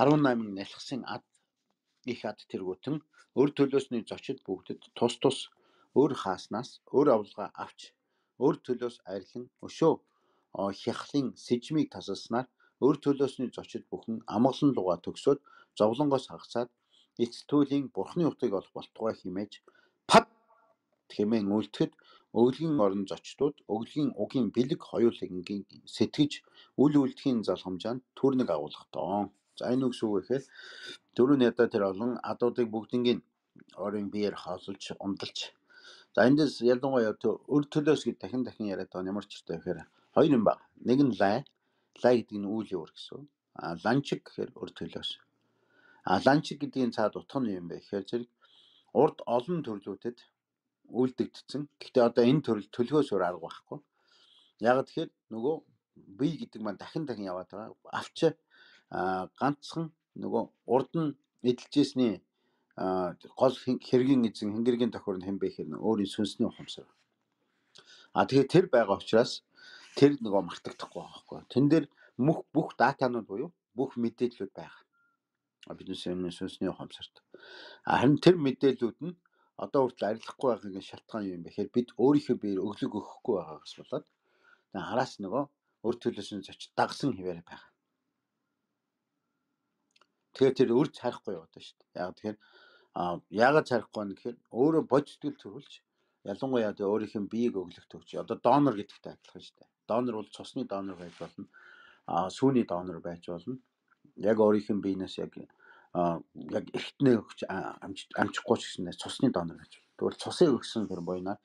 арван найман нялхсын ад их ад тэргүүтэн өр төлөөсний зочид бүгдэд тус тус өр хааснаас өр авлага авч өр төлөөс арилан өшөө хяхлын сэжмийг тасалснаар өр төлөөсний зочид бүхэн амгалан луга төгсөөд зовлонгоос хагасаад эцтүүлийн бурхны утгыг олох болтугай химээж пад хэмээн үлдэхэд өглөгийн орон зочдууд өглөгийн угийн бэлэг хоёулангийн сэтгэж үл үлдэхийн залхамжаанд төрнөг агуулах тоо. За энэ үг шүү гэхээр дөрөв ядаа тэр олон адуудыг бүгднийг орон биеэр хаалж умдалж за эндээс ялангуяа өр төлөөс гэж дахин дахин яриад байгаа ямар ч хэрэгтэй гэхээр хоёр юм байна. Нэг нь лай лай гэдэг нь үйл явдал гэсэн. А ланчиг гэхээр өр төлөөс. А ланчиг гэдгийн цаад утга нь юм бэ гэхээр зэрэг урд олон төрлүүтэд үйлдэгдсэн. Гэхдээ одоо энэ төрөл төлгөөс өөр арга байхгүй. Яг тэгэхээр нөгөө бие гэдэг маань дахин дахин яваад байгаа. Авч а ганцхан нөгөө урд нь эдэлжсэний гол хэргийн эзэн хэнгэргийн тохиор нь хэн бэ гэхээр өөрийн сүнсний ухамсар. А тэгэхээр тэр байгаа учраас тэр нөгөө мартагдахгүй байгаа байхгүй. Тэн дээр бүх бүх датанууд буюу бүх мэдээллүүд байгаа. Бидний сүнсний ухамсарт. Харин тэр мэдээллүүд нь одоо хүртэл арилахгүй байгаагийн шалтгаан юу юм бэ гэхээр бид өөрийнхөө биеэр өглөг өгөхгүй байгаагаас болоод тэгээ хараас нөгөө өр төлөөсний зочид дагсан хിവэр байгаа. Тэгэхээр тэр өрж харахгүй яваад байна шүү дээ. Яг тэгэхээр а яагаад царахгүй вэ гэхээр өөрөө бодитгөл төрүүлж ялангуяа тэ өөрийнх нь биеийг өглөх төгч одоо донор гэдэгтэй адилхан шүү дээ. Донор бол цусны донор байж болно. А сүүний донор байж болно. Яг өөрийнх нь биенээс яг а яг эртнээ өгч амжихгүй ч гэсэн цусны донор гэж. Тэгвэл цусыг өгсөн тэр буйнаар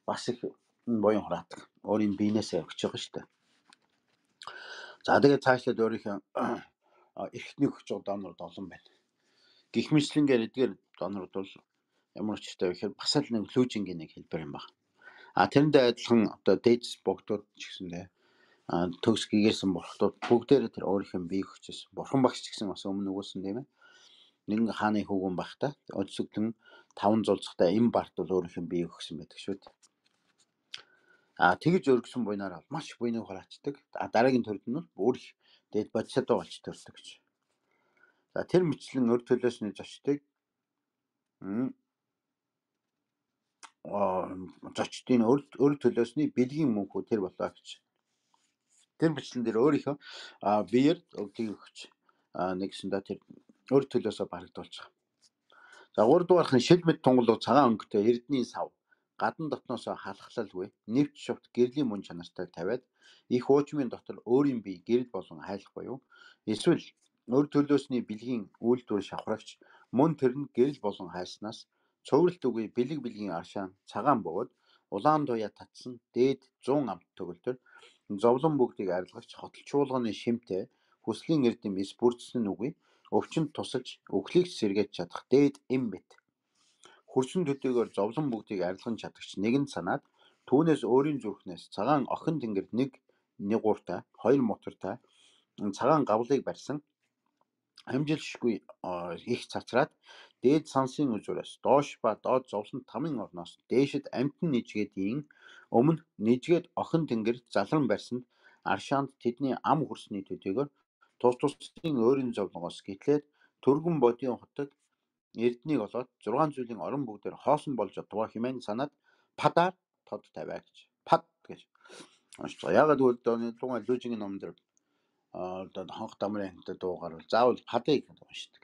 бас их буян хураадаг. Өөрийн биенээсээ өгч байгаа шүү дээ. За тэгээд цаашлаад өөрийнхөө эртний өгч байгаа донор олон байна. Гэх мэтлэнгээр эдгээр донорууд бол ямар ч хэрэгтэй вэ гэхээр бас л нэг лүүжингийн нэг хэлбэр юм байна. А тэрэндээ адилхан одоо дээдс богдууд ч гэсэндээ төгс гийсэн бурхтууд бүгдээрээ тэр өөрийнх нь бие хүчээс бурхан багш ч гэсэн бас өмнө өгүүлсэн тийм ээ. Нэгэн хааны хүүгэн байхдаа өдсөглөн таван зулцтай эм барт бол өөрийнх нь бие өгсөн байдаг шүү дээ. А тэгж өргөсөн буйнаар маш буйныг хураачдаг. А дараагийн төрд нь бүр их дээд бодисодоо болж төрдөг гэж. За тэр мэтлэн өр төлөөсний зочдыг зочдын өр төлөөсний бэлгийн мөнхүү тэр болоо гэж. Тэр бичлэн дээр өөрийнхөө биеэр өгдгийг өгч нэгсэндээ тэр өр төлөөсөө барагдуулж байгаа. За гурав дугаарх нь шил мэд тунгалуу цагаан өнгөтэй эрдний сав гадан дотноос халахлалгүй нэвч шувт гэрлийн мөн чанартай тавиад их уучмын дотор өөрийн бие гэрэл болон хайлах буюу эсвэл өр төлөөсний бэлгийн үйлдвэр шавхрагч мөн тэр нь гэрэл болон хайснаас цувралт үгүй бэлэг бэлгийн аршаан цагаан бөгөөд улаан туяа татсан дээд зуун амт төгөлтөр зовлон бүгдийг арилгагч хотолчуулганы шимтэй хүслийн эрдэм эс бүрдсэн үгүй өвчнөд тусалж өглийг сэргээж чадах дээд эм мэт хөрсөн төдийгөр зовлон бүгдийг арилган чадагч нэгэн санаад түүнээс өөрийн зүрхнээс цагаан охин тэнгэр нэг нэгууртай хоёр мотортай цагаан гавлыг барьсан амжилшгүй их цацраад дээд сансын үзүүрээс доош ба доод зовлон тамын орноос дээшэд амтэн нижгээдийн өмнө нижгээд охин тэнгэр залран барьсанд аршаанд тэдний ам хөрсний төдийгөр тус тусын өөрийн зовлонгоос гэтлээд төргөн бодийн хотод эрднийг олоод зургаан зүйлийн орон бүгдээр хоосон болж одвоо хэмээн санаад падаар тод тавиа гэж. Пад гэж. Яагаад гэвэл тухайн лүжигийн ном дээр одоо хонх дамрын хамтад дуугаар бол заавал падыг уншдаг.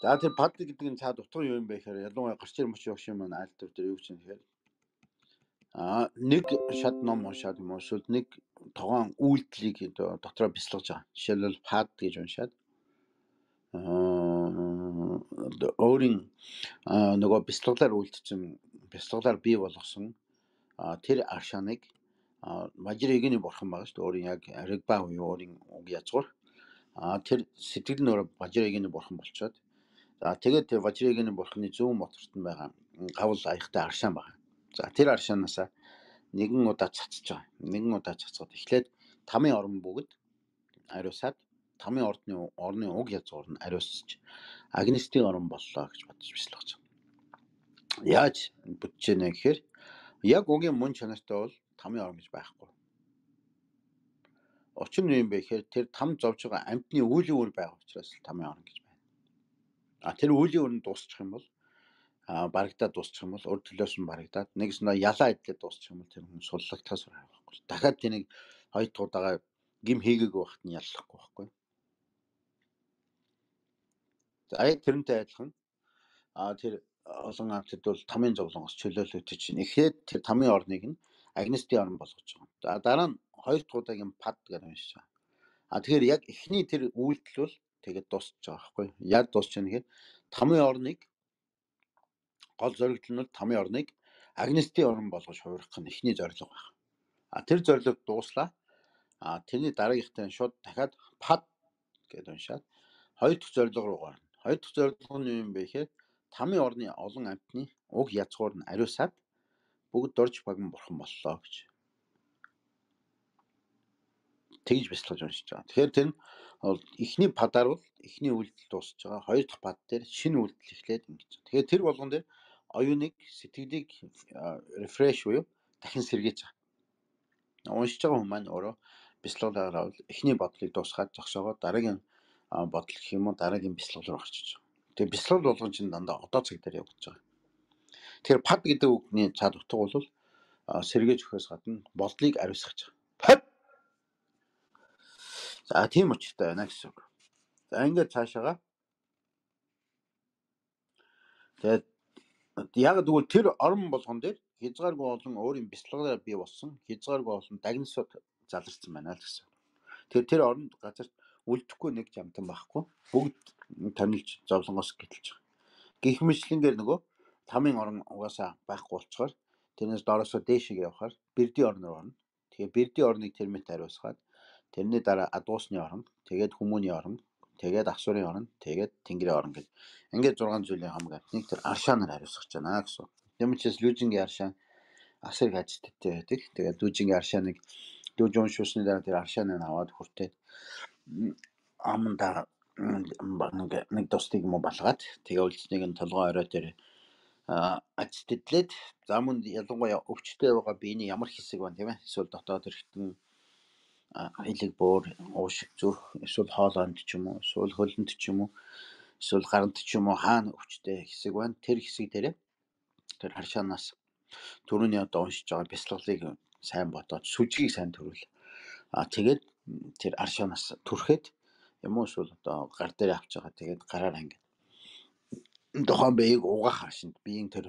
За тэр пад гэдэг нь цаад утга юу юм бэ гэхээр ялангуяа гарч ир мөч явах юм маань аль төр дээр юу гэж юм гэхээр а нэг шат ном уншаад юм уу эсвэл нэг тогоон үйлдэлийг дотроо бясалгаж байгаа. Жишээлбэл пад гэж уншаад аа өөрийн нөгөө бясалгалаар үйлдсэн бясалгалаар бий болгосон тэр аршааныг Важирэгний бурхан байгаа шүү дээ. Өөрийн яг Ригба буюу өөрийн уг язгуур. А тэр сэтгэл нь өөрөө Важирэгний бурхан болчоод за тэгээд тэр Важирэгний бурханы зүүн моторт нь байгаа гавл аяхтай аршаан байгаа. За тэр аршаанаас нэгэн удаа цацж байгаа. Нэгэн удаа цацгаад эхлээд тамийн орон бүгд ариусаад тамийн ордны орны уг язгуур нь ариусч агнистийн орон боллоо гэж бодож бясалгаж байгаа. Яаж бүтэж гэнэ гэхээр яг угийн мөн чанартай бол тамийн орон гэж байхгүй. Учир нь юм бэ гэхээр тэр там зовж байгаа амьтны үүлийн үр байгаа учраас тамийн орон гэж байна. А тэр үүлийн үр нь дуусчих юм бол а барагдаад дуусчих юм бол өр төлөөс нь барагдаад нэгснээ ялаа идлээ дуусчих юм бол тэр хүн суллагтаас байхгүй. Дахиад тэнийг хоёр дахь удаага гим хийгээгүй байхад нь яллахгүй байхгүй. За тэрнтэй адилхан а тэр олон амьтад бол тамийн зовлонгоос чөлөөлөгдөж чинь эхлээд тэр тамийн орныг нь агнистийн орн болгож байгаа. За дараа нь хоёр дахь удаагийн пад гэж уншиж байгаа. А тэгэхээр яг эхний тэр үйлдэл бол тэгээд дуусч байгаа байхгүй. Яг дуусч байгаа нэхэд тамийн орныг гол зорилго нь бол тамийн орныг агнистийн орн болгож хувирах нь эхний зорилго байна. А тэр зорилго дууслаа. А тэрний дараагийнхтай шууд дахиад пад гэж уншаад хоёр дахь зорилго руу гарна. Хоёр дахь зорилго нь юу юм бэ гэхээр тамийн орны олон амьтны уг язгуур нь ариусаад бүгд дорж баган бурхан боллоо гэж. Тэгж бясалгаж уншиж байгаа. Тэгэхээр тэр нь эхний падаар бол эхний үйлдэл дуусж байгаа. Хоёр дахь пад дээр шинэ үйлдэл эхлээд ингэж. Тэгэхээр тэр болгон дээр оюуныг сэтгэлийг рефреш буюу дахин сэргээж байгаа. Уншиж байгаа хүмүүс маань өөрөө бясалгалаараа бол эхний бодлыг дуусгаад зогсоогоо дараагийн бодол гэх юм уу дараагийн бясалгал руу орчиж байгаа. Тэгээ бясалгал болгон чинь дандаа одоо цаг дээр явагдаж байгаа. Тэгэхээр пад гэдэг үгний цаад утга бол сэргээж өгөхөөс гадна бодлыг ариусгах. Пад. За тийм учиртай байна гэсэн үг. За ингээд цаашаага. Тэгээд яг тэгвэл тэр орон болгон дээр хязгааргүй олон өөрийн бясалгалаар бий болсон хязгааргүй олон дагнасууд заларсан байна л гэсэн. Тэгэхээр тэр оронд газарт үлдэхгүй нэг жамтан байхгүй. Бүгд томилж зовлонгоос гэтэлж байгаа. Гэх мэтлэнгээр нөгөө тамийн орон угаасаа байхгүй болчоор тэрнээс доороосоо дээшээ явхаар бэрдийн орн руу орно. Тэгэхээр бэрдийн орныг тэрмэт ариусгаад тэрний дараа адуусны орон, тэгээд хүмүүний орон, тэгээд асуурын орон, тэгээд тэнгэрийн орон гэж. Ингээд зургаан зүйлийн хамаг амтныг тэр аршаанаар хариуцгаж байна гэсэн. Тэмчээс лүжингийн аршаан асар их ажилттай байдаг. Тэгээд лүжингийн аршааныг лүж уншуулсны дараа тэр аршааныг аваад хүртээд аманда нэг нэг тостыг юм балгаад тэгээ үлдснийг нь толгой орой дээр ажилтлээд за мөн ялангуяа өвчтөй байгаа биений ямар хэсэг байна тийм ээ? Эсвэл дотоод эргэтэн хилэг буур, уушиг зүрх, эсвэл хоолойнд ч юм уу, эсвэл хөлөнд ч юм уу, эсвэл гаранд ч юм уу хаана өвчтөй хэсэг байна. Тэр хэсэг дээрээ тэр харшаанаас түрүүний одоо уншиж байгаа бясалгалыг сайн бодоод сүжгийг сайн төрүүл. А тэгээд тэр аршаанаас түрхэд юм уу эсвэл одоо гар дээр авч байгаа тэгээд гараар ангид тухайн биеийг угаах харшинд биеийн тэр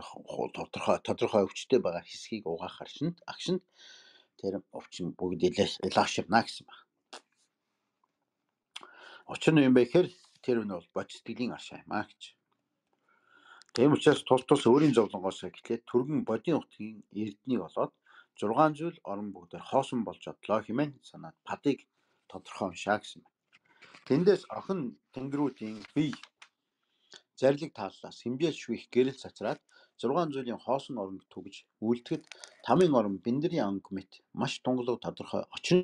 тодорхой тодорхой өвчтөй байгаа хэсгийг угаах харшинд агшинд тэр өвчин бүгд илааширна гэсэн байна. Учир нь юм бэ гэхээр тэр нь бол бодистгэлийн аршаа юм аа гэж. Тийм учраас тус тус өөрийн зовлонгоос эхлээд түргэн бодийн утгийн эрднийг болоод зургаан зүйл орон бүгдээр хоосон болж одлоо хэмээн санаад падыг тодорхой уншаа гэсэн байна. Тэндээс охин тэнгэрүүдийн бие зарлиг тааллаас хэмжээ швих гэрэл цацраад зургаан зүйлийн хоосон оронд түгж үлдэхэд тамийн орон биндрийн анги мэт маш тунгалаг тодорхой очин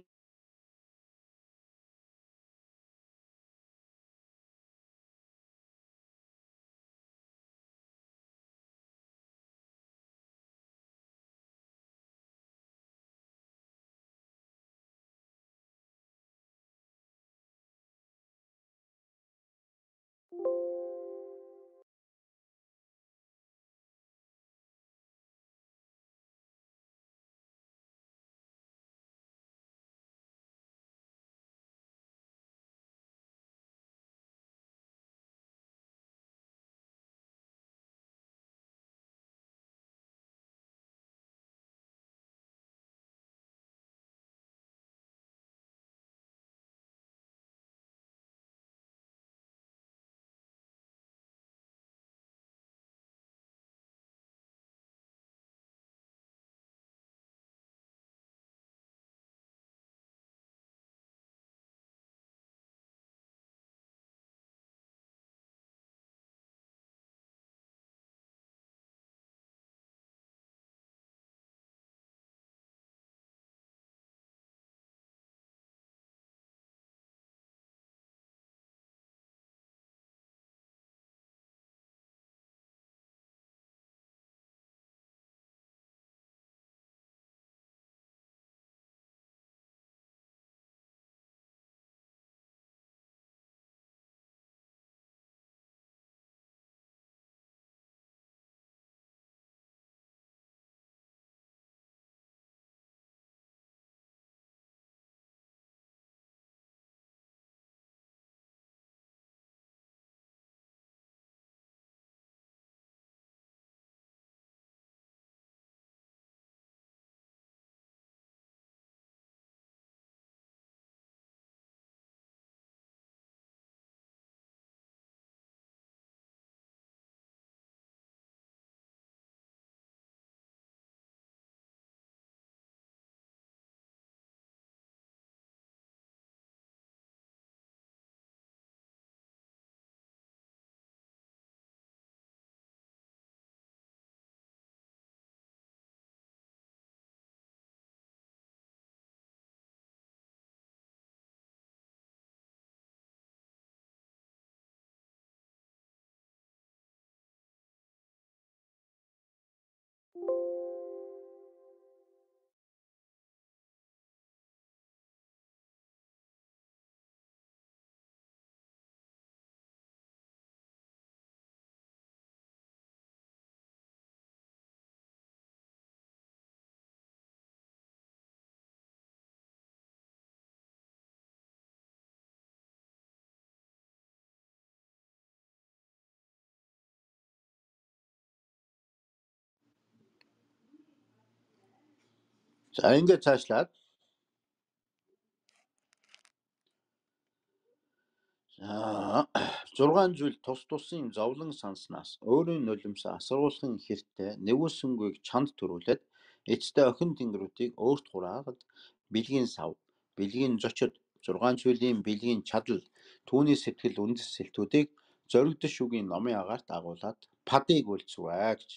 за ингээд цаашлаад зургаан зүйл тус тусын зовлон санснаас өөрийн нулимсаа асруулахын хэртэй нэгүүлсэнгүйг чанд төрүүлээд эцтэй охин тэнгэрүүдийг өөрт хураагаад бэлгийн сав, бэлгийн зочид, зургаан зүйлийн бэлгийн чадал, түүний сэтгэл үндэс сэлтүүдийг зоригдох шүгийн номын агаарт агуулад падыг үлдсвэ гэж.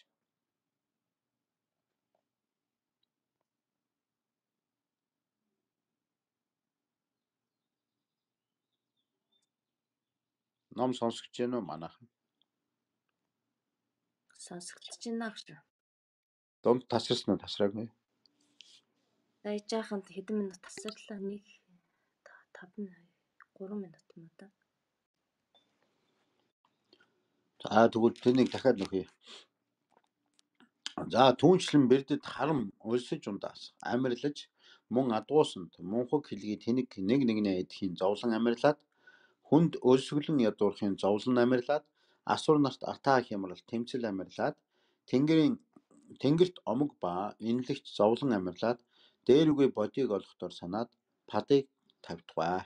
Ном сонсогч гэнэ үү манайхан? Сонсогдож байна гэж. Дунд тасарсан уу, тасраагүй? Дайж яаханд хэдэн минут тасарлаа? нэг таван гурван минут юм уу та? За тэгвэл тэнийг дахиад нөхье. За түүнчлэн бэрдэд харам өлсөж ундаас амьрлаж мөн адуусанд мунхаг хэлгий тэнэг нэг нэгнээ эдхийн зовлон амьрлаад хүнд өлсгөлэн ядуурхын зовлон амьрлаад асур нарт атаа хямрал тэмцэл амьрлаад тэнгэрийн тэнгэрт омог ба инлэгч зовлон амьрлаад дээрүгээ бодийг олохдоор санаад падыг тавьдгаа.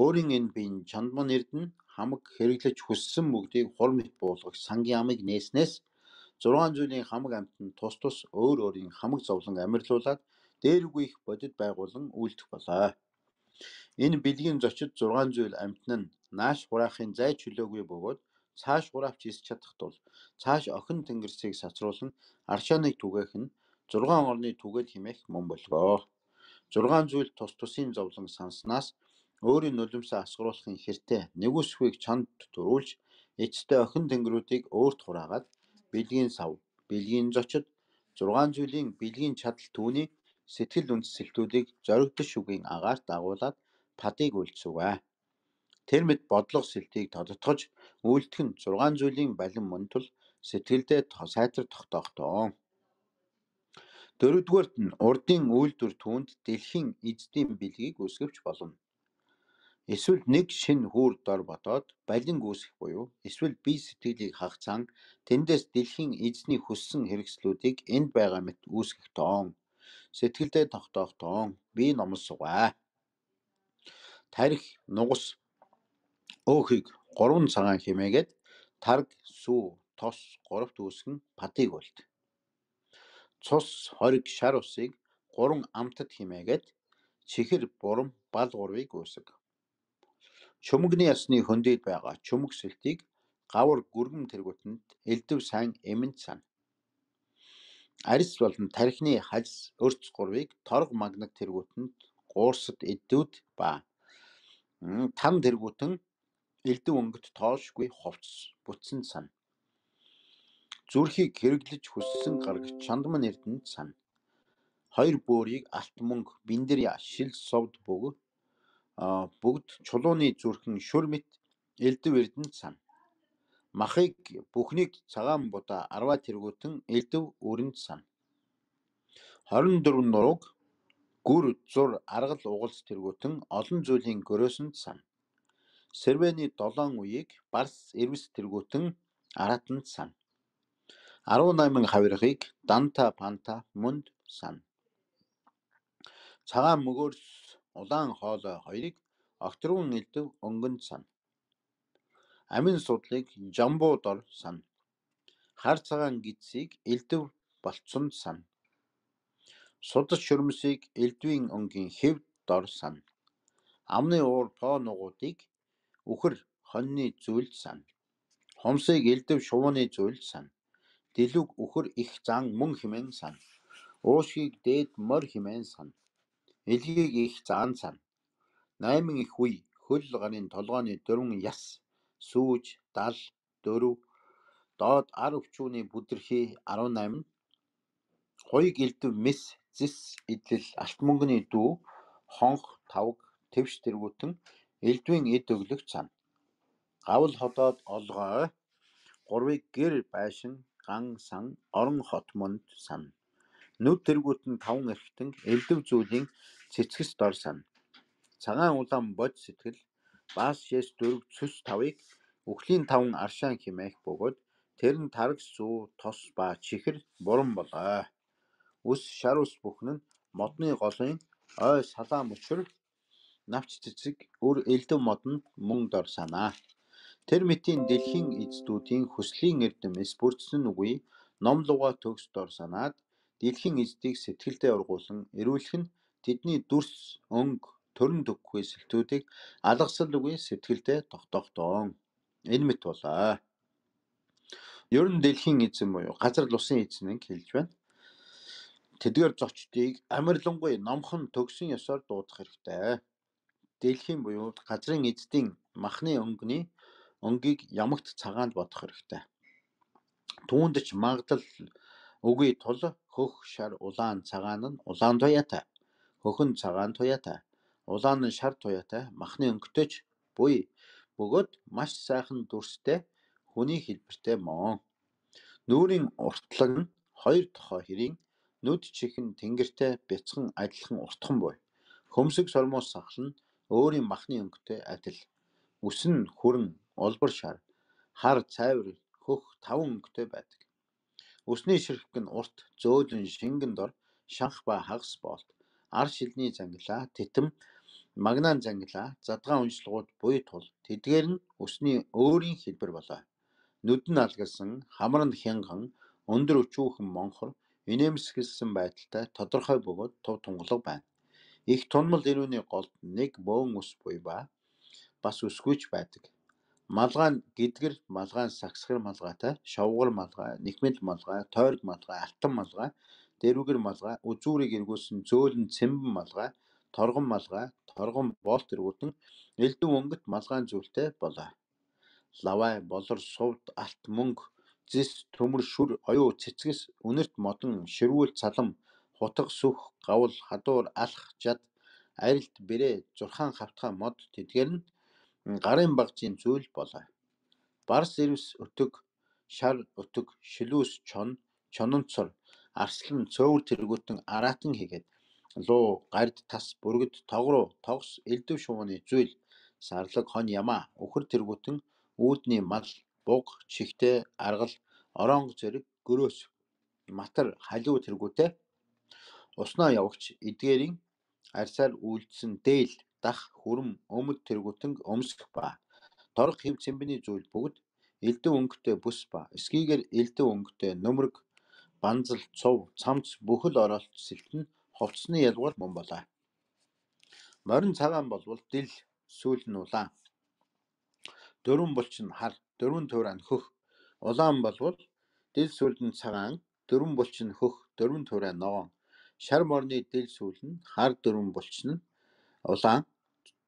Өөрийн энэ биеийн чандман эрдэнэ хамаг хэрэглэж хүссэн бүгдийг хур мэт буулгах сангийн амыг нээснээс зургаан зүйлийн хамаг амьтанд тус тус өөр өөрийн хамаг зовлон амьрлуулад дээрүгүй их бодит байгуулан үйлдэх болоо. Энэ бэлгийн зочид зургаан зүйл амьтан нь нааш хураахын зай чөлөөгүй бөгөөд цааш хураавч ис чадах тул цааш охин тэнгэрсийг сацруулан аршааныг түгээх нь зургаан орны түгэл хэмээх мөн болгоо. Зургаан зүйл тус тусын зовлон санснаас өөрийн нулимсаа асгаруулахын хэртэй нэгүсхийг чанд төрүүлж эцтэй охин тэнгэрүүдийг өөрт хураагаад бэлгийн сав, бэлгийн зочид, зургаан зүйлийн бэлгийн чадал түүний сэтгэл үндэслэлтүүдийг зоригдох шүгийн агаарт агуулад падыг үлдсвэ. Тэр мэд бодлого сэлтийг тодотгож үйлдэх нь зургаан зүйлийн балин мөн тул сэтгэлдээ сайтар тогтоохдоо. Дөрөвдүгээрт нь урдын үйлдвэр түүнд дэлхийн эздийн бэлгийг үсгэвч болно. Эсвэл нэг шинэ хүүр дор бодоод балин гүйсэх буюу эсвэл бие сэтгэлийг хагацаан тэндээс дэлхийн эзний хүссэн хэрэгслүүдийг энд байгаа мэт үүсгэх тоон. Сэтгэлдээ тогтоох тоон би номлосгоо. Тарих, нугас, өөхийг гурван цагаан хэмээгээд тарг, сүү, тос гуравт үүсгэн падыг үлд. Цус, хориг, шар усыг гурван амтад хэмээгээд чихэр, бурам, бал гурвыг үүсэг. Чумгны ясны хөндөд байгаа чумг сэлтийг гавар гүргэн тэргүүтэнд элдв сайн эмэнд сан. Арис болон тархины хальс өрц гурвыг торг магнаг тэргүүтэнд гуурсад эддүүд ба там тэргүүтэн элдв өнгөт тоошгүй ховц бүтсэн сан. Зүрхийг хэрэглэж хүссэн гаргаж чандман эрдэнэд сан. Хоёр бөөрийг алт мөнгө биндэря шил совд бүг бүгд чулууны зүрхэн шүр мэт элдв эрдэнэд сан. Махыг бүхнийг цагаан будаа арваа тэргүүтэн элдв өрөнд сан. хорин дөрвөн нурууг гүр зур аргал угалц тэргүүтэн олон зүйлийн гөрөөсөнд сан. Сервэний долоон үеийг барс эрвэс тэргүүтэн аратанд сан. арван найман хавиргыг данта панта мөнд сан. Цагаан мөгөөрс улаан хоолой хоёрыг огторгон элдв өнгөнд сан. Амин судлыг жамбуу дор сан. Хар цагаан гидсийг элдв болцсонд сан. Судас шүрмсийг элдвийн өнгийн хэвд дор сан. Амны уур по нугуудыг үхэр хоньны зүйлд сан. Хумсыг элдв шувууны зүйлд сан. Дэлүг үхэр их зан мөн хэмээн сан. Уушгийг дээд мор хэмээн сан. Илгийг их заан сан. Найман их үе хөл гарын толгойн дөрвөн яс сүүж дал дөрв доод ар өвчүүний бүдэрхий арван найман хоёг элдв мэс зис идэл алт мөнгөний дүү хонх тавг твш тэргүүтэн элдвийн эд өглөгч сан. Гавл ходоод олгоо гурвыг гэр байшин ган сан орон хот мөнд сан. Нүд тэргүүтэн таван эрхтэн элдв зүйлийн цэцгэс дор сан. Цагаан улаан бод сэтгэл баас шээс дөрв цөс тавыг үхлийн таван аршаан хэмээх бөгөөд тэр нь тарг сүү тос ба чихэр бурам болоо. Үс шар ус бүхэн нь модны голын ой салаа мөчр навч цэцэг өр элдв модонд мөн дор санаа. Тэр мэтийн дэлхийн эздүүдийн хүслийн эрдэмэс бүрдсэн үгүй ном луга төгс дор санаад дэлхийн эздийг сэтгэлдээ ургуулсан эрүүлэх нь тэдний дүрс өнг төрн төггүй сэлтүүдийг алгасал үгүй сэтгэлдээ тогтохдоо. Энэ мэт болоо. Ер нь дэлхийн эзэн буюу газар лусын эзэн хэлж байна. Тэдгээр зочдыг амарлингуй номхон төгсөн ёсоор дуудах хэрэгтэй. Дэлхийн буюу газрын эзэдийн махны өнгөний өнгийг ямагт цагаанд бодох хэрэгтэй. Түүнд ч магадлал үгүй тул хөх шар улаан цагаан нь улаан туяатай, хөхөн цагаан туяатай, улаан нь шар туяатай махны өнгөтэй ч буй бөгөөд маш сайхан дүрстэй хүний хэлбэртэй мөн. Нүүрийн уртлаг нь хоёр тохой хэрийн нүд чихэн тэнгэртэй бяцхан адилхан уртхан буй. Хөмсөг сормоос сахал нь өөрийн махны өнгөтэй адил. Үс нь хүрэн олбор шар, хар цайвар хөх таван өнгөтэй байдаг. Үсний ширхэг нь урт зөөлөн шингэн дор шанх ба хагас боолт, ар шилний зангилаа, тэтэм, магнаан зангилаа, задгаан уншлагууд буй тул тэдгээр нь үсний өөрийн хэлбэр болоо. Нүд нь алгалсан, хамар нь хянган, өндөр өчүүхэн монхор, инээмсэглсэн байдалтай тодорхой бөгөөд тув тунгалаг байна. Их тунмал ирүүний голд нэг бөөн ус буй ба бас үсгүйч байдаг. Малгай нь гидгэр малгай, сагсгар малгайтай, шовгор малгай, нэхмэл малгай, тойрог малгай, алтан малгай, дэрвгэр малгай, үзүүрийг эргүүлсэн зөөлөн цэмбэн малгай, торгон малгай, торгон боолт эргүүлэн элдв өнгөт малгайн зүйлтэй болоо. Лавай, болор, сувд, алт, мөнгө, зис, төмөр, шүр, оюу, цэцгэс, үнэрт модон, ширүүл, цалам, хутга, сүх, гавл, хадуур, алх, жад, арилт, бэрээ, зурхаан, хавтгай, мод тэдгээр нь гарын багжийн зүйл болоо. Барс ирвс өтөг, шар өтөг, шилүүс чон, чононцор, арслан цөөвөр тэргүүтэн араатан хийгээд луу, гард, тас, бүргэд, тогруу, тогс, элдв шувууны зүйл, сарлаг, хон ямаа, өхөр тэргүүтэн үүдний мал, буг, чихтэй, аргал, оронго зэрэг, гөрөөс, матар, халиу тэргүүтэй уснаа явагч эдгээрийн арсаар үйлдсэн дээл, дах, хүрэм, өмд тэргүүтэн өмсөх ба торг хэв цэмбэний зүйл бүгд элдв өнгөтэй бүс ба эсгийгээр элдв өнгөтэй нөмрөг, банзал, цув, цамц бүхэл оролт сэлтэн хувцсны ялгуур мөн болоо. Морин цагаан болвол дил сүүл нь улаан. Дөрвөн булч нь хар, дөрвөн туурай нь хөх. Улаан болвол дил сүүл нь цагаан, дөрвөн булч нь хөх, дөрвөн туурай ногоон. Шар морны дил сүүл нь хар, дөрвөн булч нь улаан,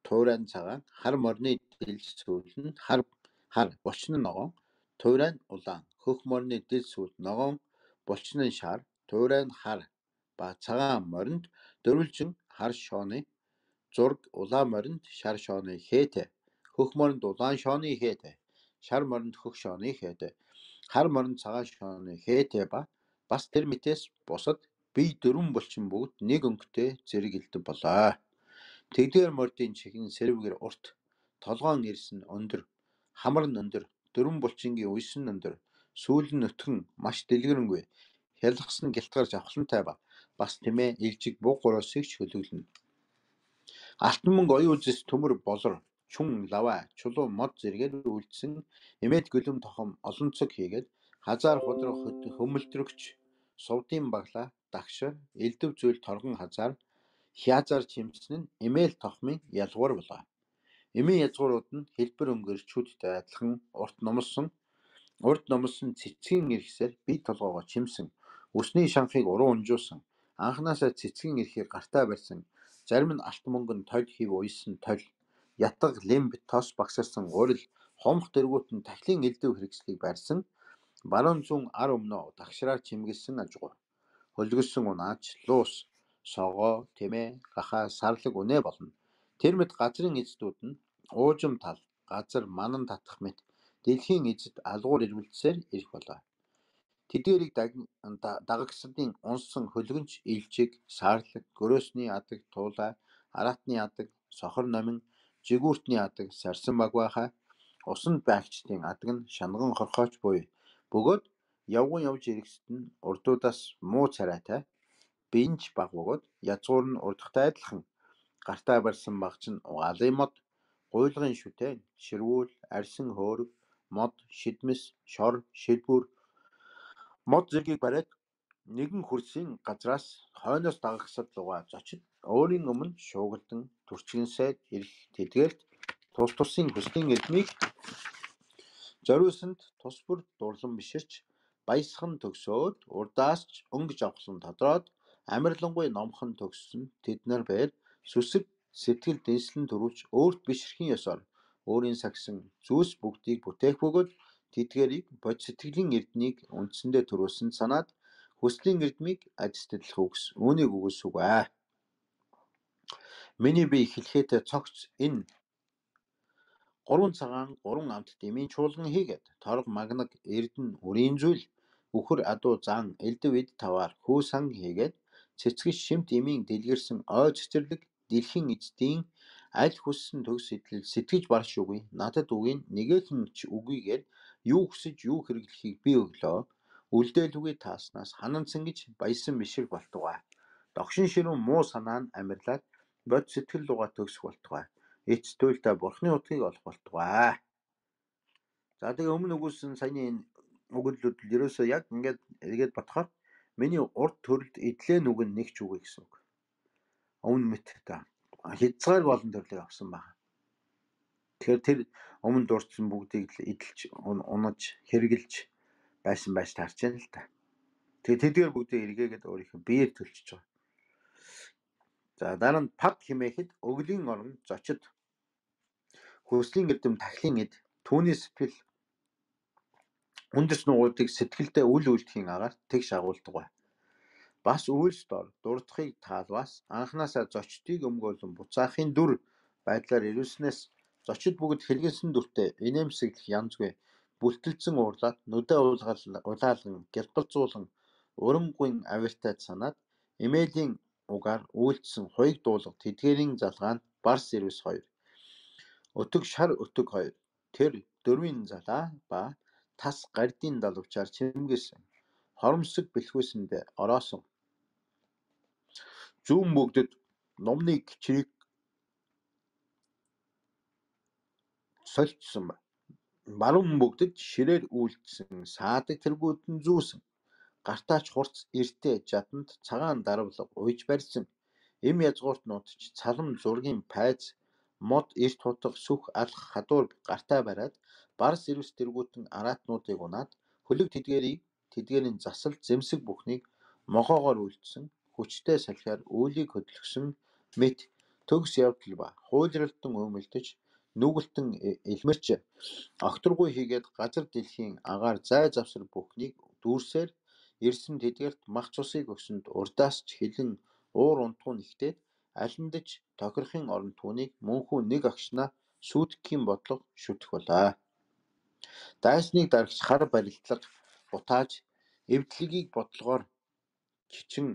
туурай нь цагаан, хар морны дил сүүл нь хар, хар булч нь ногоон, туурай нь улаан. Хөх морны дил сүүл ногоон, булч нь шар, туурай нь хар ба цагаан моринд дөрвөлжин хар шооны зург, улаан моринд шар шооны хээтэй, хөх моринд улаан шооны хээтэй, шар моринд хөх шооны хээтэй, хар моринд цагаан шооны хээтэй ба бас тэр мэтээс бусад бие дөрвөн булчин бүгд нэг өнгөтэй зэрэг элдв болоо. Тэгдгээр мордын чихэн сэрвгэр урт, толгоон ирс нь өндөр, хамар нь өндөр, дөрвөн булчингийн үйс нь өндөр, сүүл нь өтгөн маш дэлгэрэнгүй, хялгсан гялтгарч авхлантай ба бас тэмээ илжиг буг гуроосыг ч хөлөглөнө. Алтан мөнгө, оюу зис, төмөр, болор, чүн, лавай, чулуу, мод зэргээр үйлдсэн эмээд гөлөм тохом олон цог хийгээд хазаар худрах хөмөлтрөгч, сувдын баглаа, дагшар, элдв зүйл торгон хазаар, хязаар чимсэн нь эмээл тохмын ялгуур болоо. Эмийн язгуурууд нь хэлбэр өнгөрчүүдтэй адилхан урт номлсон, урд номлсон цэцгийн ирхсээр бие толгоогоо чимсэн, үсний шанхыг уруу унжуулсан, анханасаа цэцгийн ирхийг гартаа барьсан, зарим нь алт мөнгөн толь хив уйсан толь, ятга, лимб, тос багсарсан гурил, хомх дэргүүтэн тахлын элдв хэрэгслийг барьсан, баруун зүүн ар өмнөө дагшраар чимгэлсэн ажгуур, хөлгөссөн унаач, луус, согоо, тэмээ, гахаа, сарлаг үнэ болно. Тэр мэт газрын эзэдүүд нь уужим тал, газар, манан татах мэт дэлхийн эзэд алгуур ирвэлцсээр ирэх болоо. Тэдгээрийг дагагсдын унсан хөлгөнч, илжиг, саарлаг, гөрөөсний адаг, туулай, араатны адаг, сохор номин, жигүүртний адаг, сарсан багваахай, усанд байгчдын адаг нь шанган хорхооч буй. Бөгөөд явган явж ирэхсэд нь урдуудаас муу царайтай, бинж баг бөгөөд язгуур нь урдахтай адилхан, гартаа барьсан багч нь угаалын мод, гуйлгын шүтэн, ширүүл, арьсан хөөрөг, мод, шидмэс, шор, шилбүр, мод зэргийг бариад нэгэн хөрсийн газраас хойноос дагагсад лугаа зочид өөрийн өмнө шуугалдан төрчгөнсөд ирэх тэдгээрт тус тусын хүслийн эдмийг зориулсанд тус бүр дурлан биширч баясхан төгсөөд урдаас ч өнгөж авахлан тодроод амарлангуй номхон төгссөн тэднэр бээр сүсэг сэтгэл дэнслэн төрүүлж өөрт биширхийн ёсоор өөрийн сагсан зүйлс бүгдийг бүтээх бөгөөд тэдгэрийг бод сэтгэлийн эрднийг үндсэндээ төрүүлсэн санаад хүслийн эрдмийг ажилтлах үгс үүнийг үгүйсүг аа. Миний би хэлхээтэй цогц энэ гурван цагаан гурван амт дэмийн чуулган хийгээд торг магнаг эрдэн үрийн зүйл үхэр адуу зан элдв эд таваар хүү сан хийгээд цэцгэж шимт эмийн дэлгэрсэн ой цэцэрлэг дэлхийн эцдийн аль хүссэн төгс сэтэл сэтгэж барш үгүй надад үгийн нэгэн ч үгүйгээр юу хүсэж юу хэрэглэхийг би өглөө үлдээлүгээ тааснаас хананцсан гэж баясан бишиг болтугай. Догшин ширүүн муу санаа нь амьрлаад бод сэтгэл лугаа төгсөх болтугай. Эцтүүлдэ бурхны утгыг олох болтугай. За тэгээ өмнө өгүүлсэн саяны энэ өгүүлбэрүүд ерөөсөө яг ингээд эргээд бодохоор миний урд төрөлд эдлээ нүгэн нэг ч үгүй гэсэн үг. Өмнө мэт та хязгаарг олон төрлийг авсан байна. Тэгэхээр тэр өмнө дурдсан бүгдийг л эдэлж унаж хэрглэж байсан байж таарч байна л та. Тэгээ тэдгээр бүгдийг эргээгээд өөрийнхөө биеэр төлчихөж байгаа. За дараа нь пад химээхэд өглөгийн орон зочид хүслийн эрдэм тахлын эд түүний сэтгэл үндэс нугуудыг сэтгэлдээ үл үйлдэхийн агаар тэгш агуулдаг бай. Бас үйлс дор дурдахыг таалваас анханасаа зочдыг өмгөөлөн буцаахын дүр байдлаар ирүүлснээс зочид бүгд хэлгэнсэн дүртэй инээмсэглэх янзгүй бүлтэлцэн уурлаад нүдэ улаалган гялбалзуулан урамгүйн авиртайд санаад эмээлийн угаар үйлдсэн хуйг дуулга тэдгээрийн залгаанд барс ирвэс хоёр өтөг шар өтөг хоёр тэр дөрвийн залаа ба тас гардийн далавчаар чимгээсэн хоромсог бэлхүүсэндээ ороосон зүүн бүгдэд номны кичрийг сольцсон ба баруун бүгдэд ширээр үйлдсэн саадаг тэргүүд нь зүүсэн гартаач хурц эртээ жаданд цагаан дарвлага уйж барьсан эм язгууртнууд ч цалам зургийн пайз мод эрт хутга сүх алх хадуур гартаа бариад барс ирвэс тэргүүтэн араатнуудыг унаад хөлөг тэдгэрийг тэдгэрийн засал зэмсэг бүхнийг могоогоор үйлдсэн хүчтэй салхиар үүлийг хөдөлгсөн мэт төгс явдал ба хуйлралтан өмөлдөж нүгэлтэн элмэрч огторгуй хийгээд газар дэлхийн агаар зай завсар бүхнийг дүүрсээр ирсэн тэдгэрт мах цусыг өгсөнд урдаас ч хилэн уур унтгуу нэгтээд алиндаж тохирохын орон түүнийг мөнхүү нэг агшнаа сүйтгэхийн бодлого шүтэх болоо. Дайсныг дарагч хар барилдлага бутааж эвдлэгийг бодлогоор чичин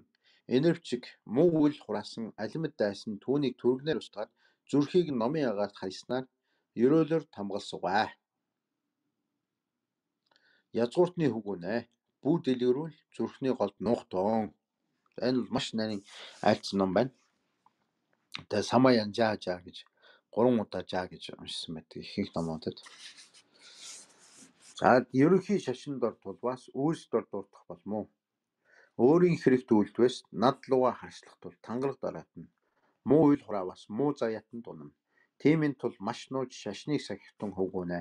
энервчиг муу үйл хураасан алимд дайсан түүнийг түргнээр устгаад зүрхийг номын агаарт хайснаар ерөөлөөр тамгалсугай. Язгууртны хүгүнэ бүү дэлгэрүүл зүрхний голд нуухтон. Энэ бол маш нарийн айлцсан ном байна. Тэгээ самаян жаа жаа гэж гурван удаа жаа гэж уншсан байдаг ихэнх номуудад. За ерөнхий шашин дор тулваас үйлс дор дурдах болмоо. Өөрийн хэрэгт үйлдвэс над луга харшлах тул тангараг дараатна. Муу үйл хураавас муу заяатанд унана. Тиймийн тул маш нууж шашныг сахихтун хөвгүнэ.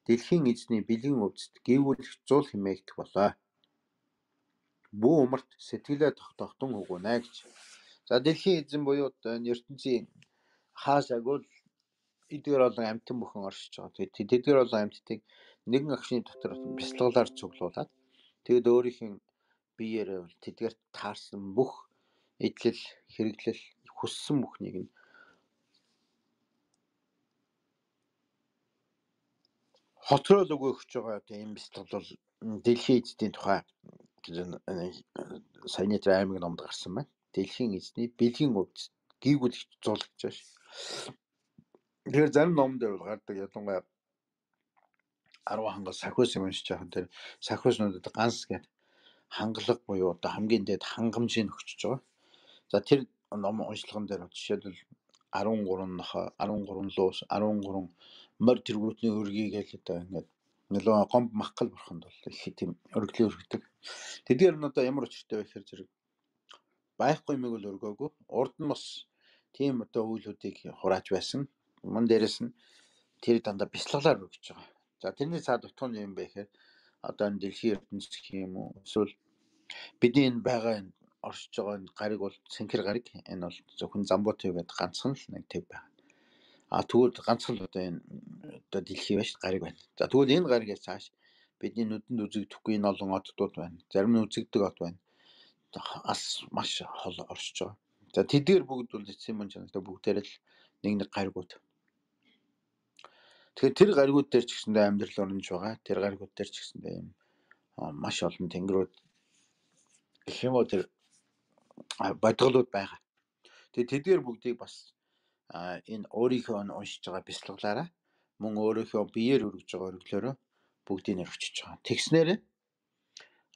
Дэлхийн эзний бэлгийн өвдөд гівүүлэх зуул хэмээгдэх болоо. Бүү умарт сэтгэлээ тогтоохтун хөвгүнэ гэж. За дэлхийн эзэн буюу ертөнцийн хаашааг бол эдгээр олон амьтан бүхэн оршиж байгаа. Тэгээд тэдгээр олон амьтдыг нэгэн агшны дотор бяцлаглаар цуглуулад тэгэд өөрийнх нь биеэрээ бол тэдгээрт таарсан бүх эдлэл хэрэглэл хүссэн бүхнийг нь хоцрол өгөх гэж байгаа одоо энэ бяцлал бол дэлхийн эзний тухай саяны тэр аймаг номд гарсан байна. Дэлхийн эзний бэлгийн өвдөд гівүүлэх зуул гэж байна. Тэгэхээр зарим номон дээр бол гардаг ялангуяа арван хангас сахиус юм уншиж байгаа тэр сахиуснуудад ганс гэдэг хангалга буюу одоо хамгийн дээд хангамжийг өгчөж байгаа. За тэр ном уншлаган дээр жишээлбэл арван гурван нохой, арван гурван луус, арван гурван морь тэргүүтний өргий гэж одоо ингээд нэлээд гомб махкал бурханд бол их тийм өргөлөө өргөдөг. Тэдгээр нь одоо ямар учиртай вэ гэхээр зэрэг байхгүй юмыг л өргөөгүй. Урд нь бас тийм одоо үйлүүдийг хурааж байсан. Мөн дээрэс нь тэр дандаа бяцлаглаар өргөж байгаа. За тэрний цаад утга нь юм бэ гэхээр одоо энэ дэлхийн ертөнцийн гэх юм уу эсвэл бидний энэ байгаа энэ оршиж байгаа энэ гариг бол сэнхэр гариг. Энэ бол зөвхөн Замбуутай гэдэг ганцхан л нэг төв байна. А тэгвэл ганцхан л одоо энэ одоо дэлхий байж гариг байна. За тэгвэл энэ гаригээс цааш бидний нүдэнд үзэгдэхгүй энэ олон оддууд байна. Зарим нь үзэгдэг од байна. Ас маш хол оршиж байгаа. За тэдгээр бүгд бол эцсийн мөн чанартай бүгдээр л нэг нэг гаригууд. Тэгэхээр тэр гаригууд дээр ч гэсэндээ амьдрал оромж байгаа. Тэр гаригууд дээр ч гэсэндээ юм маш олон тэнгэрүүд гэх юм уу тэр бодголууд байгаа. Тэгээ тэдгээр бүгдийг бас энэ өөрийнхөө уншиж байгаа бяцлаглаараа мөн өөрийнхөө биеэр өргөж байгаа өргөлөөрөө бүгдийг нэр өчөж байгаа. Тэгснээр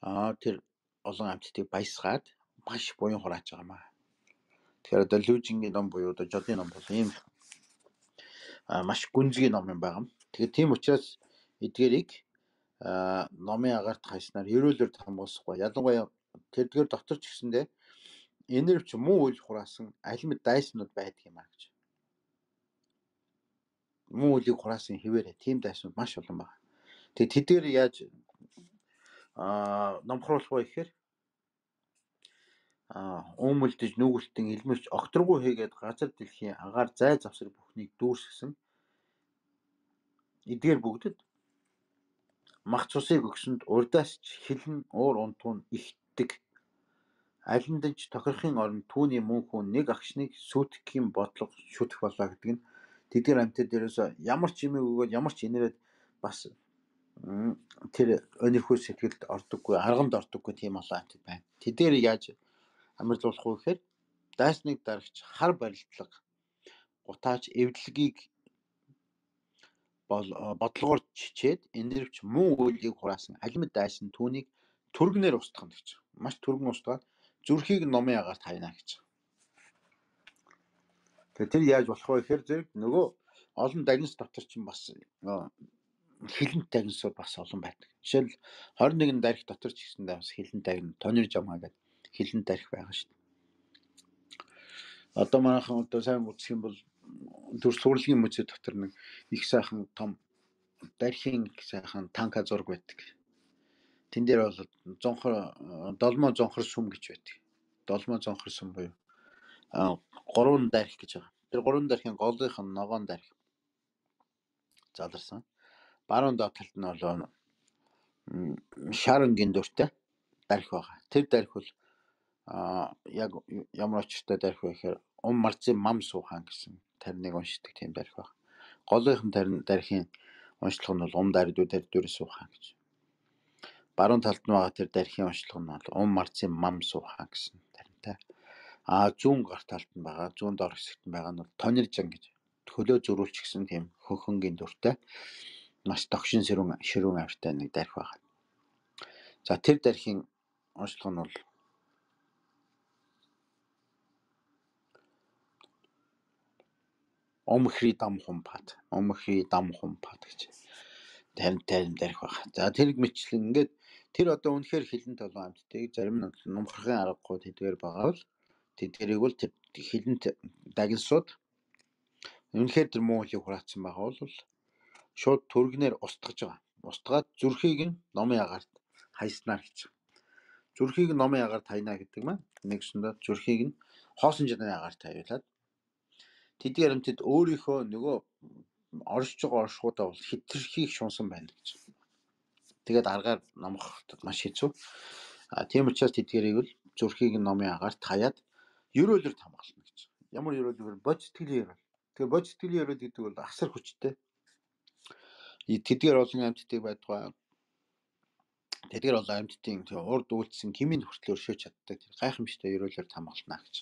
аа тэр олон амьтдыг баясгаад маш буян хурааж байгаа маа. Тэгэхээр одоо Лүжингийн ном буюу одоо Жодын ном бол ийм маш гүнзгий ном юм байгаа. Тэгэхээр тийм учраас эдгээрийг номын агаарт хайснаар ерөөлөөр хамгаалсахгүй. Ялангуяа тэрдгээр дотор ч гэсэндээ энэрвч муу үйл хураасан алимт дайснууд байдаг юм аа гэж. Муу үлийг хураасан хэвээрээ тийм дайснууд маш олон байна. Тэгээ тэдгээр яаж аа номхруулах вэ гэхээр аа өмөлдөж нүгэлтэн илмэрч огторгүй хийгээд газар дэлхийн агаар зай завсар бүхнийг дүүрсгсэн эдгээр бүгдэд мах цусыг өгсөнд урдаас ч хилэн уур унтуун ихтдэг алиндж тохирохын оронд түүний мөн хүн нэг агшныг сүйтгэхийн бодлого шүтэх болоо гэдэг нь тэдгээр амьтад дээрээс ямар ч юм өгөөд ямар ч инээрээд бас тэр өнөрхөө сэтгэлд ордоггүй арганд ордоггүй тийм олон амьтад байна. Тэдгээр яаж амьдлуулах вэ гэхээр дайсныг дарагч хар барилдлага гутаач эвдлэгийг бол бодлогоор чичээд энэрвч муу үйлийг хураасан алимт дайсан түүнийг түргнээр устгах гэж. Маш түргэн устгаад зүрхийг номын агаарт хайна гэж. Тэгэхээр тэр яаж болох вэ гэхээр зэрэг нөгөө олон дагнас дотор чинь бас хилэнт дагнасууд бас олон байдаг. Жишээл хорин нэгэн дарих дотор ч гэсэндээ бас хилэнт дагна тонир жамаа гэдэг хилэнт дарих байгаа шүү дээ. Одоо манайхан одоо сайн үзэх юм бол төр сурлагын музей дотор нэг их сайхан том дархийн сайхан танка зураг байдаг. Тэн дээр бол зонхор долмоо зонхор сүм гэж байдаг. Долмоо зонхор сүм буюу гурван дарих гэж байгаа. Тэр гурван дархийн голынх нь ногоон дарих заларсан. Баруун доод талд нь бол шарангийн дүртэй дарих байгаа. Тэр дарих бол яг ямар очиртай дарих вэ гэхээр ум марцын мам суухан гэсэн тарныг уншдаг тийм дарих байна. Голынх нь тарин дархийн уншлага нь бол ум даридуу таридуур суухан гэж. Баруун талд нь байгаа тэр дархийн уншлага нь бол ум марцын мам суухан гэсэн таринтай. А зүүн гар талд нь байгаа зүүн дор хэсэгт нь байгаа нь бол тониржан гэж хөлөө зөрүүлч гэсэн тийм хөхөнгийн дүртэй маш тогшин ширүүн ширүүн авиртай нэг дарих байна. За тэр дархийн уншлага нь бол омхри дам хумпат омхри дам хумпат гэж тарин тарин дарих байна. За тэр мэтлэн ингээд тэр одоо үнэхээр хилэнт олон амьтдыг зарим нь нумхрахын аргагүй тэдгээр байгаа бол тэдгэрийг бол тэр хилэнт дагнасууд үнэхээр тэр муу үлийг хураацсан байгаа бол шууд түргнээр устгаж байгаа. Устгаад зүрхийг нь номын агаарт хайснаар гэж. Зүрхийг нь номын агаарт хайна гэдэг маань нэгсэндээ зүрхийг нь хоосон жаны агаарт хаяулаад тэдгээр амьтад өөрийнхөө нөгөө оршиж байгаа оршуудаа бол хитрхийг шунсан байна гэж. Тэгээд аргаар номох маш хэцүү. А тийм учраас тэдгэрийг л зүрхийг нь номын агаарт хаяад ерөөлөөр хамгаална гэж. Ямар ерөөлөөр бод сэтгэлийн ерөөл. Тэгэхээр бод сэтгэлийн ерөөл гэдэг бол асар хүчтэй. Тэдгээр олон амьтдыг байдгаа. Тэдгээр олон амьтдын урд үйлдсэн хэмээн хүртэл өршөөж чаддаг. Тэр гайхамшигтай ерөөлөөр хамгаална гэж.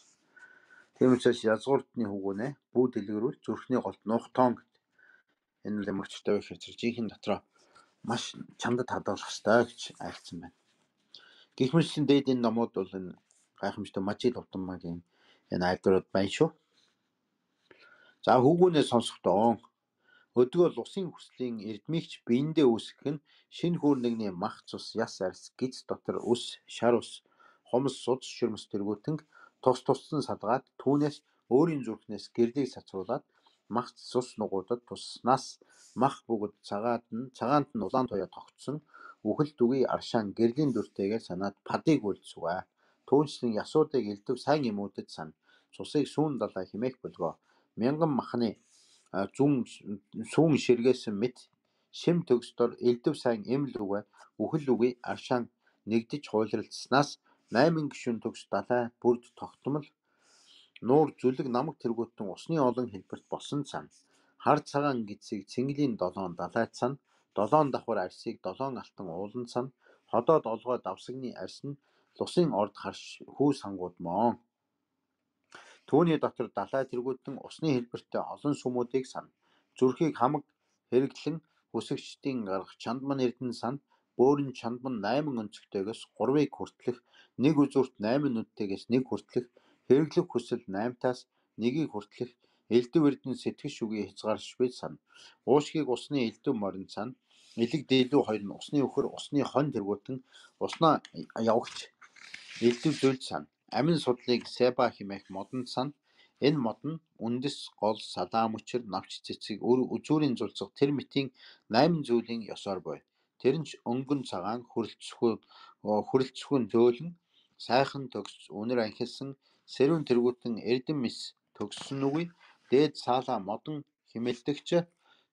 Тийм учраас язгуурдны хөвгөнэ бүү дэлгэрүүл зүрхний голд нуух тоон гэдэг. Энэ л ямар ч төвөө хэрэг жинхэнэ дотроо маш чамдад хадгалах ёстой гэж айлцсан байна. Гэх мэтлэн дээд энэ номууд бол энэ гайхамшигтай Мажид Утаммагийн энэ айлдварууд байна шүү. За хөвгөнээ сонсохдоо Өдгөө усын хүслийн эрдмигч биендээ үүсгэх нь шинэ хүүрнэгний мах цус яс арьс гиз дотор өс шар ус хомс судас шүрмэс тэргүүтэнг тус туссан салгаад түүнээс өөрийн зүрхнээс гэрлийг сацруулаад мах цус нугуудад туснаас мах бүгд цагаад нь цагаанд нь улаан туяа тогтсон үхэл дүгий аршаан гэрлийн дүртэйгээр санаад падыг үлдсүгэ. Түүнчлэн ясуудыг элдв сайн эмүүдэд сан цусыг сүүн далай химээх болгоо. Мянган махны зүүн сүүн ширгээсэн мэт шим төгсдор элдв сайн эм лүгэ үхэл үгүй аршаан нэгдэж хуйлралцснаас найман гишүүн төгс далай бүрд тогтмол нуур зүлэг намаг тэргүүтэн усны олон хэлбэрт болсон цан хар цагаан гидсийг цэнгэлийн долоон далайт сан долоон давхар арьсыг долоон алтан уулан сан ходоод олгоо давсагны арьс нь лусын орд харш хүү сангууд моон. Түүний дотор далай тэргүүтэн усны хэлбэртэй олон сүмүүдийг сан зүрхийг хамаг хэрэглэн хүсэгчдийн гарах чандман эрдэн сан бөөрн чандман найман өнцгтэйгээс гурвыг хүртлэх нэг үзүүрт найман нүдтэйгээс нэг хүртлэх хэрэглэх хүсэл наймтаас нэгийг хүртлэх элдв эрдэн сэтгэж шүгий хязгааршгүй сан уушгийг усны элдв морин сан элэг дэлүү хоёр нь усны өхөр усны хон тэргүүтэн уснаа явагч элдв зүйл сан амин судлыг себа химээх модон сан энэ мод нь үндэс гол салаа мөчөр навч цэцэг үзүүрийн зулцах тэр мэтийн найман зүйлийн ёсоор буй. Тэр нь өнгөн цагаан хүрэлцэхүүн хүрэлцэхүүн зөөлөн сайхан төгс үнэр анхилсан сэрүүн тэргүүтэн эрдэн мис төгссөн үгүй дээд саалаа модон химэлдэгч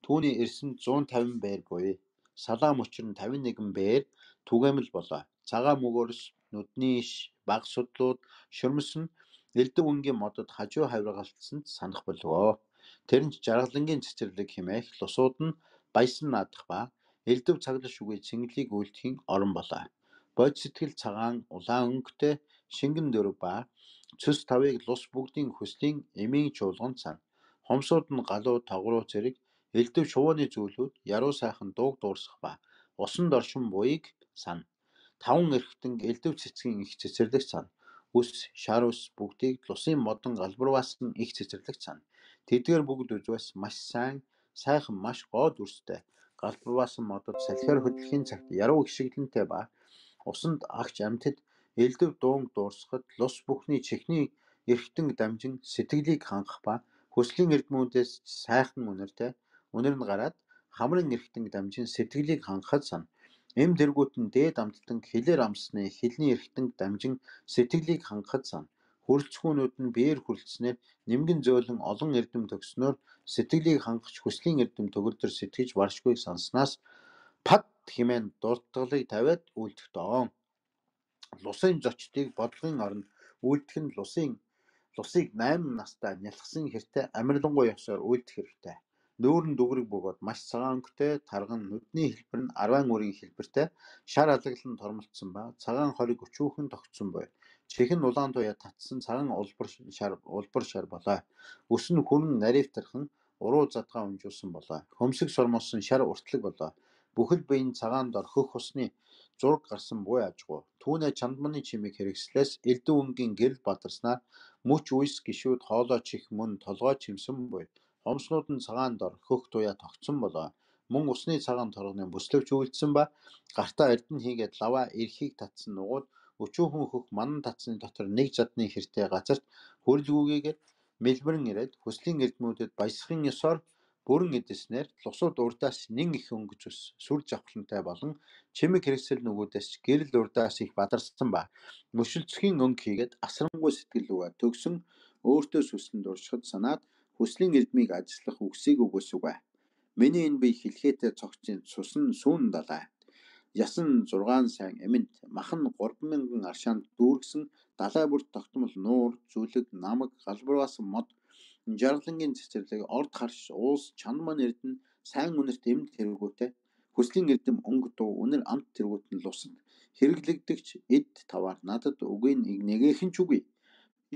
түүний ирсэн зуун тавин бээр буй. Салаа мөчөр нь тавин нэгэн бээр түгээмэл болоо. Цагаан мөгөөрс нүдний иш баг судлууд шүрмэс нь элдв өнгийн модод хажуу хавиргалтсанд санах болов. Тэр нь жаргалангийн цэцэрлэг химээх лусууд нь баясан наадах ба элдв цаглаш үгүй цэнгэлийг үйлдэхийн орон болоо. Бод сэтгэл цагаан улаан өнгөтэй шингэн дөрв ба цэс тавыг лус бүгдийн хөслийн эмийн чуулган сан. Хомсууд нь галуу тогруу зэрэг элдв шувууны зүйлүүд яруу сайхан дууг дуурсах ба усан доршин буйг сан. Таван эрхтэн элдв цэцгийн их цэцэрлэг сан. Үс шар ус бүгдийг лусын модон галбарваас нь их цэцэрлэг сан. Тэдгээр бүгд үзвэс маш сайн сайхан маш гоо дүрстэй галбарваасан модод салхиар хөдлөхийн цагт яруу гიშгэлэнтэй ба усанд агч амьтад элдв дуунг дуурсахад лус бүхний чихний эрхтэн дамжин сэтгэлийг хангах ба хүслийн эрдмүүдээс сайхан үнэртэй үнэр нь гараад хамрын эрхтэн дамжин сэтгэлийг хангахад сан. Эм тэргүүтэн дээд амттан хилээр амсны хилний эрхтэн дамжин сэтгэлийг хангахад сан. Хүрэлцгүүнүүд нь биеэр хүрэлцснээр нэмгэн зөөлөн олон эрдэм төгснөөр сэтгэлийг хангах хүслийн эрдэм төгөлдөр сэтгэж баршгүйг санснаас пад химэн дуртгалыг тавиад үлдэх доон. Лусын зочдыг бодлогын оронд үлдэх нь лусын лусыг найман настай нялхсан хэртэй амирлангуй ёсоор үлдэх хэрэгтэй. Нүүрэн дүгрэг бөгөөд маш цагаан өнгөтэй тарган нүдний хэлбэр нь арван үрийн хэлбэртэй шар алаглан тормолцсон ба цагаан хориг өчүүхэн тогтсон буй. Чихэн улаан туяа татсан цагаан улбар шар улбар шар болоо. Өс нь хүрэн наривтархан уруу задгаа унжуулсан болоо. Хөмсөг сормосон шар уртлаг болоо. Бүхэл биеийн цагаан дор хөх усны зураг гарсан буй ажгүй. Түүнээ чандманы чимийг хэрэгслээс элдв өнгийн гэрэл бадарснаар мөч үйс гişүүд хоолой чих мөн толгой чимсэн буй. Хомснууд нь цагаан дор хөх туяа тогтсон болоо. Мөн усны цагаан торгоны бүслэгч үйлдсэн ба гартаа эрдэн хийгээд лаваа эрхийг татсан нугууд өчүүхэн хөх манан татсны дотор нэг жадны хэртэй газарт хөрөлгүүгээр мэлбэрэн ирээд хүслийн эрдмүүдэд баясахын ёсоор бүрэн эдэснээр лусууд урдаас нэн их өнгөж ус сүр жавхлантай болон чимэг хэрэгсэл нүгүүдээс гэрэл урдаас их бадарсан ба мөшөлцөхийн өнгө хийгээд асрангуй сэтгэл үгээ төгсөн өөртөө сүслэн дуршихад санаад хүслийн эрдмийг ажиллах үгсийг өгөөсүгэ. Миний энэ бие хэлхээтэй цогцын сусан сүүн далай. Ясан зургаан сайн эмэнт махан гурван мянган аршаанд дүүргсэн далай бүрт тогтмол нуур зүлэг намаг галбарваасан мод жаргалангийн цэцэрлэг орд харш уус чандман эрдэн сайн үнэрт эм тэргүүтэй хүслийн эрдэм өнгө дуу үнэр амт тэргүүт нь лусад хэрэглэгдэгч эд таваар надад үгүй нэгэхэн ч үгүй.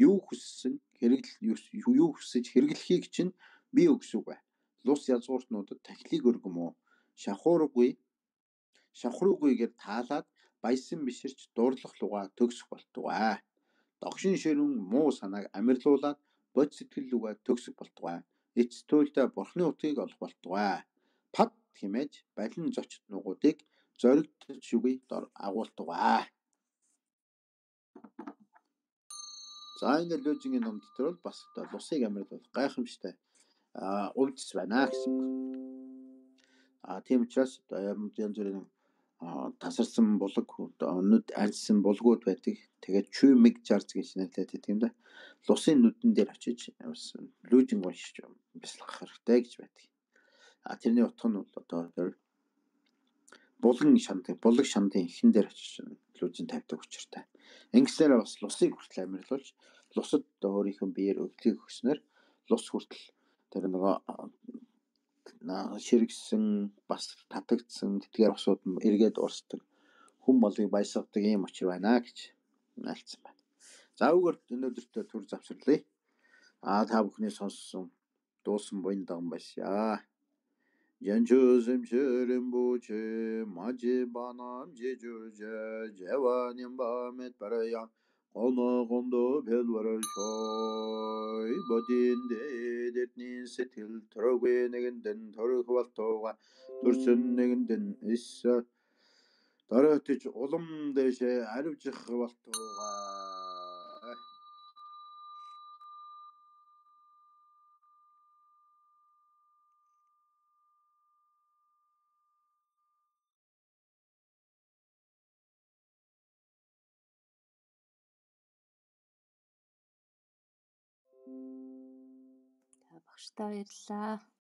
Юу хүссэн хэрэгл юу хүсэж хэрэглэхийг чинь би өгсүгэ. Лус язгууртнуудад тахилыг өргөм үү? Шахуургүй шавхруугүйгээр таалаад баясан биширч дуурлах лугаа төгсөх болтугай. Догшин ширүүн муу санааг амирлуулаад бод сэтгэл лугаа төгсөх болтугай. эцтүүлдэ бурхны утгийг олох болтугай. Пад хэмээж балин зочд нугуудыг зоригтж үгүй дор агуултугай. За энэ лужингийн ном дотор бол бас лусыг амьд гайхамшигтай уулзс байна гэсэн. А тийм учраас янз бүрийн тасарсан булаг нүд альсан булгууд байдаг. Тэгээд чүмиг жарз гэж нэрлэдэг тийм дээ. Лусын нүдэн дээр очиж лужин уншиж бяцлах хэрэгтэй гэж байдаг. А тэрний утга нь бол одоо булган шандын булаг шандын ихэн дээр очиж лужин тавьдаг учиртай. Ингэснээр бас лусыг хүртэл амьрлуулж лусад өөрийнх нь биеэр өвдлийг өгснөр лус хүртэл тэр нөгөө ширгсэн бас татагдсан тэдгээр усууд эргээд урсдаг хүм болыг баясгадаг ийм учир байна гэж альцсан байна. За өгөр өнөөдөртөө түр завсарлая. А та бүхний сонссон дуусан буян даган байшаа. Янчусэм шэрэм бучэ мажи банам жижүржэ жаваним бамет парая Оно гондо белварашой бодинде детнин сэтгэл төрөгүй нэгэндэн төрөх болтууга төрсөн нэгэндэн исса дараатж улам дэшэ аривжих болтууга. Багштай баярлалаа.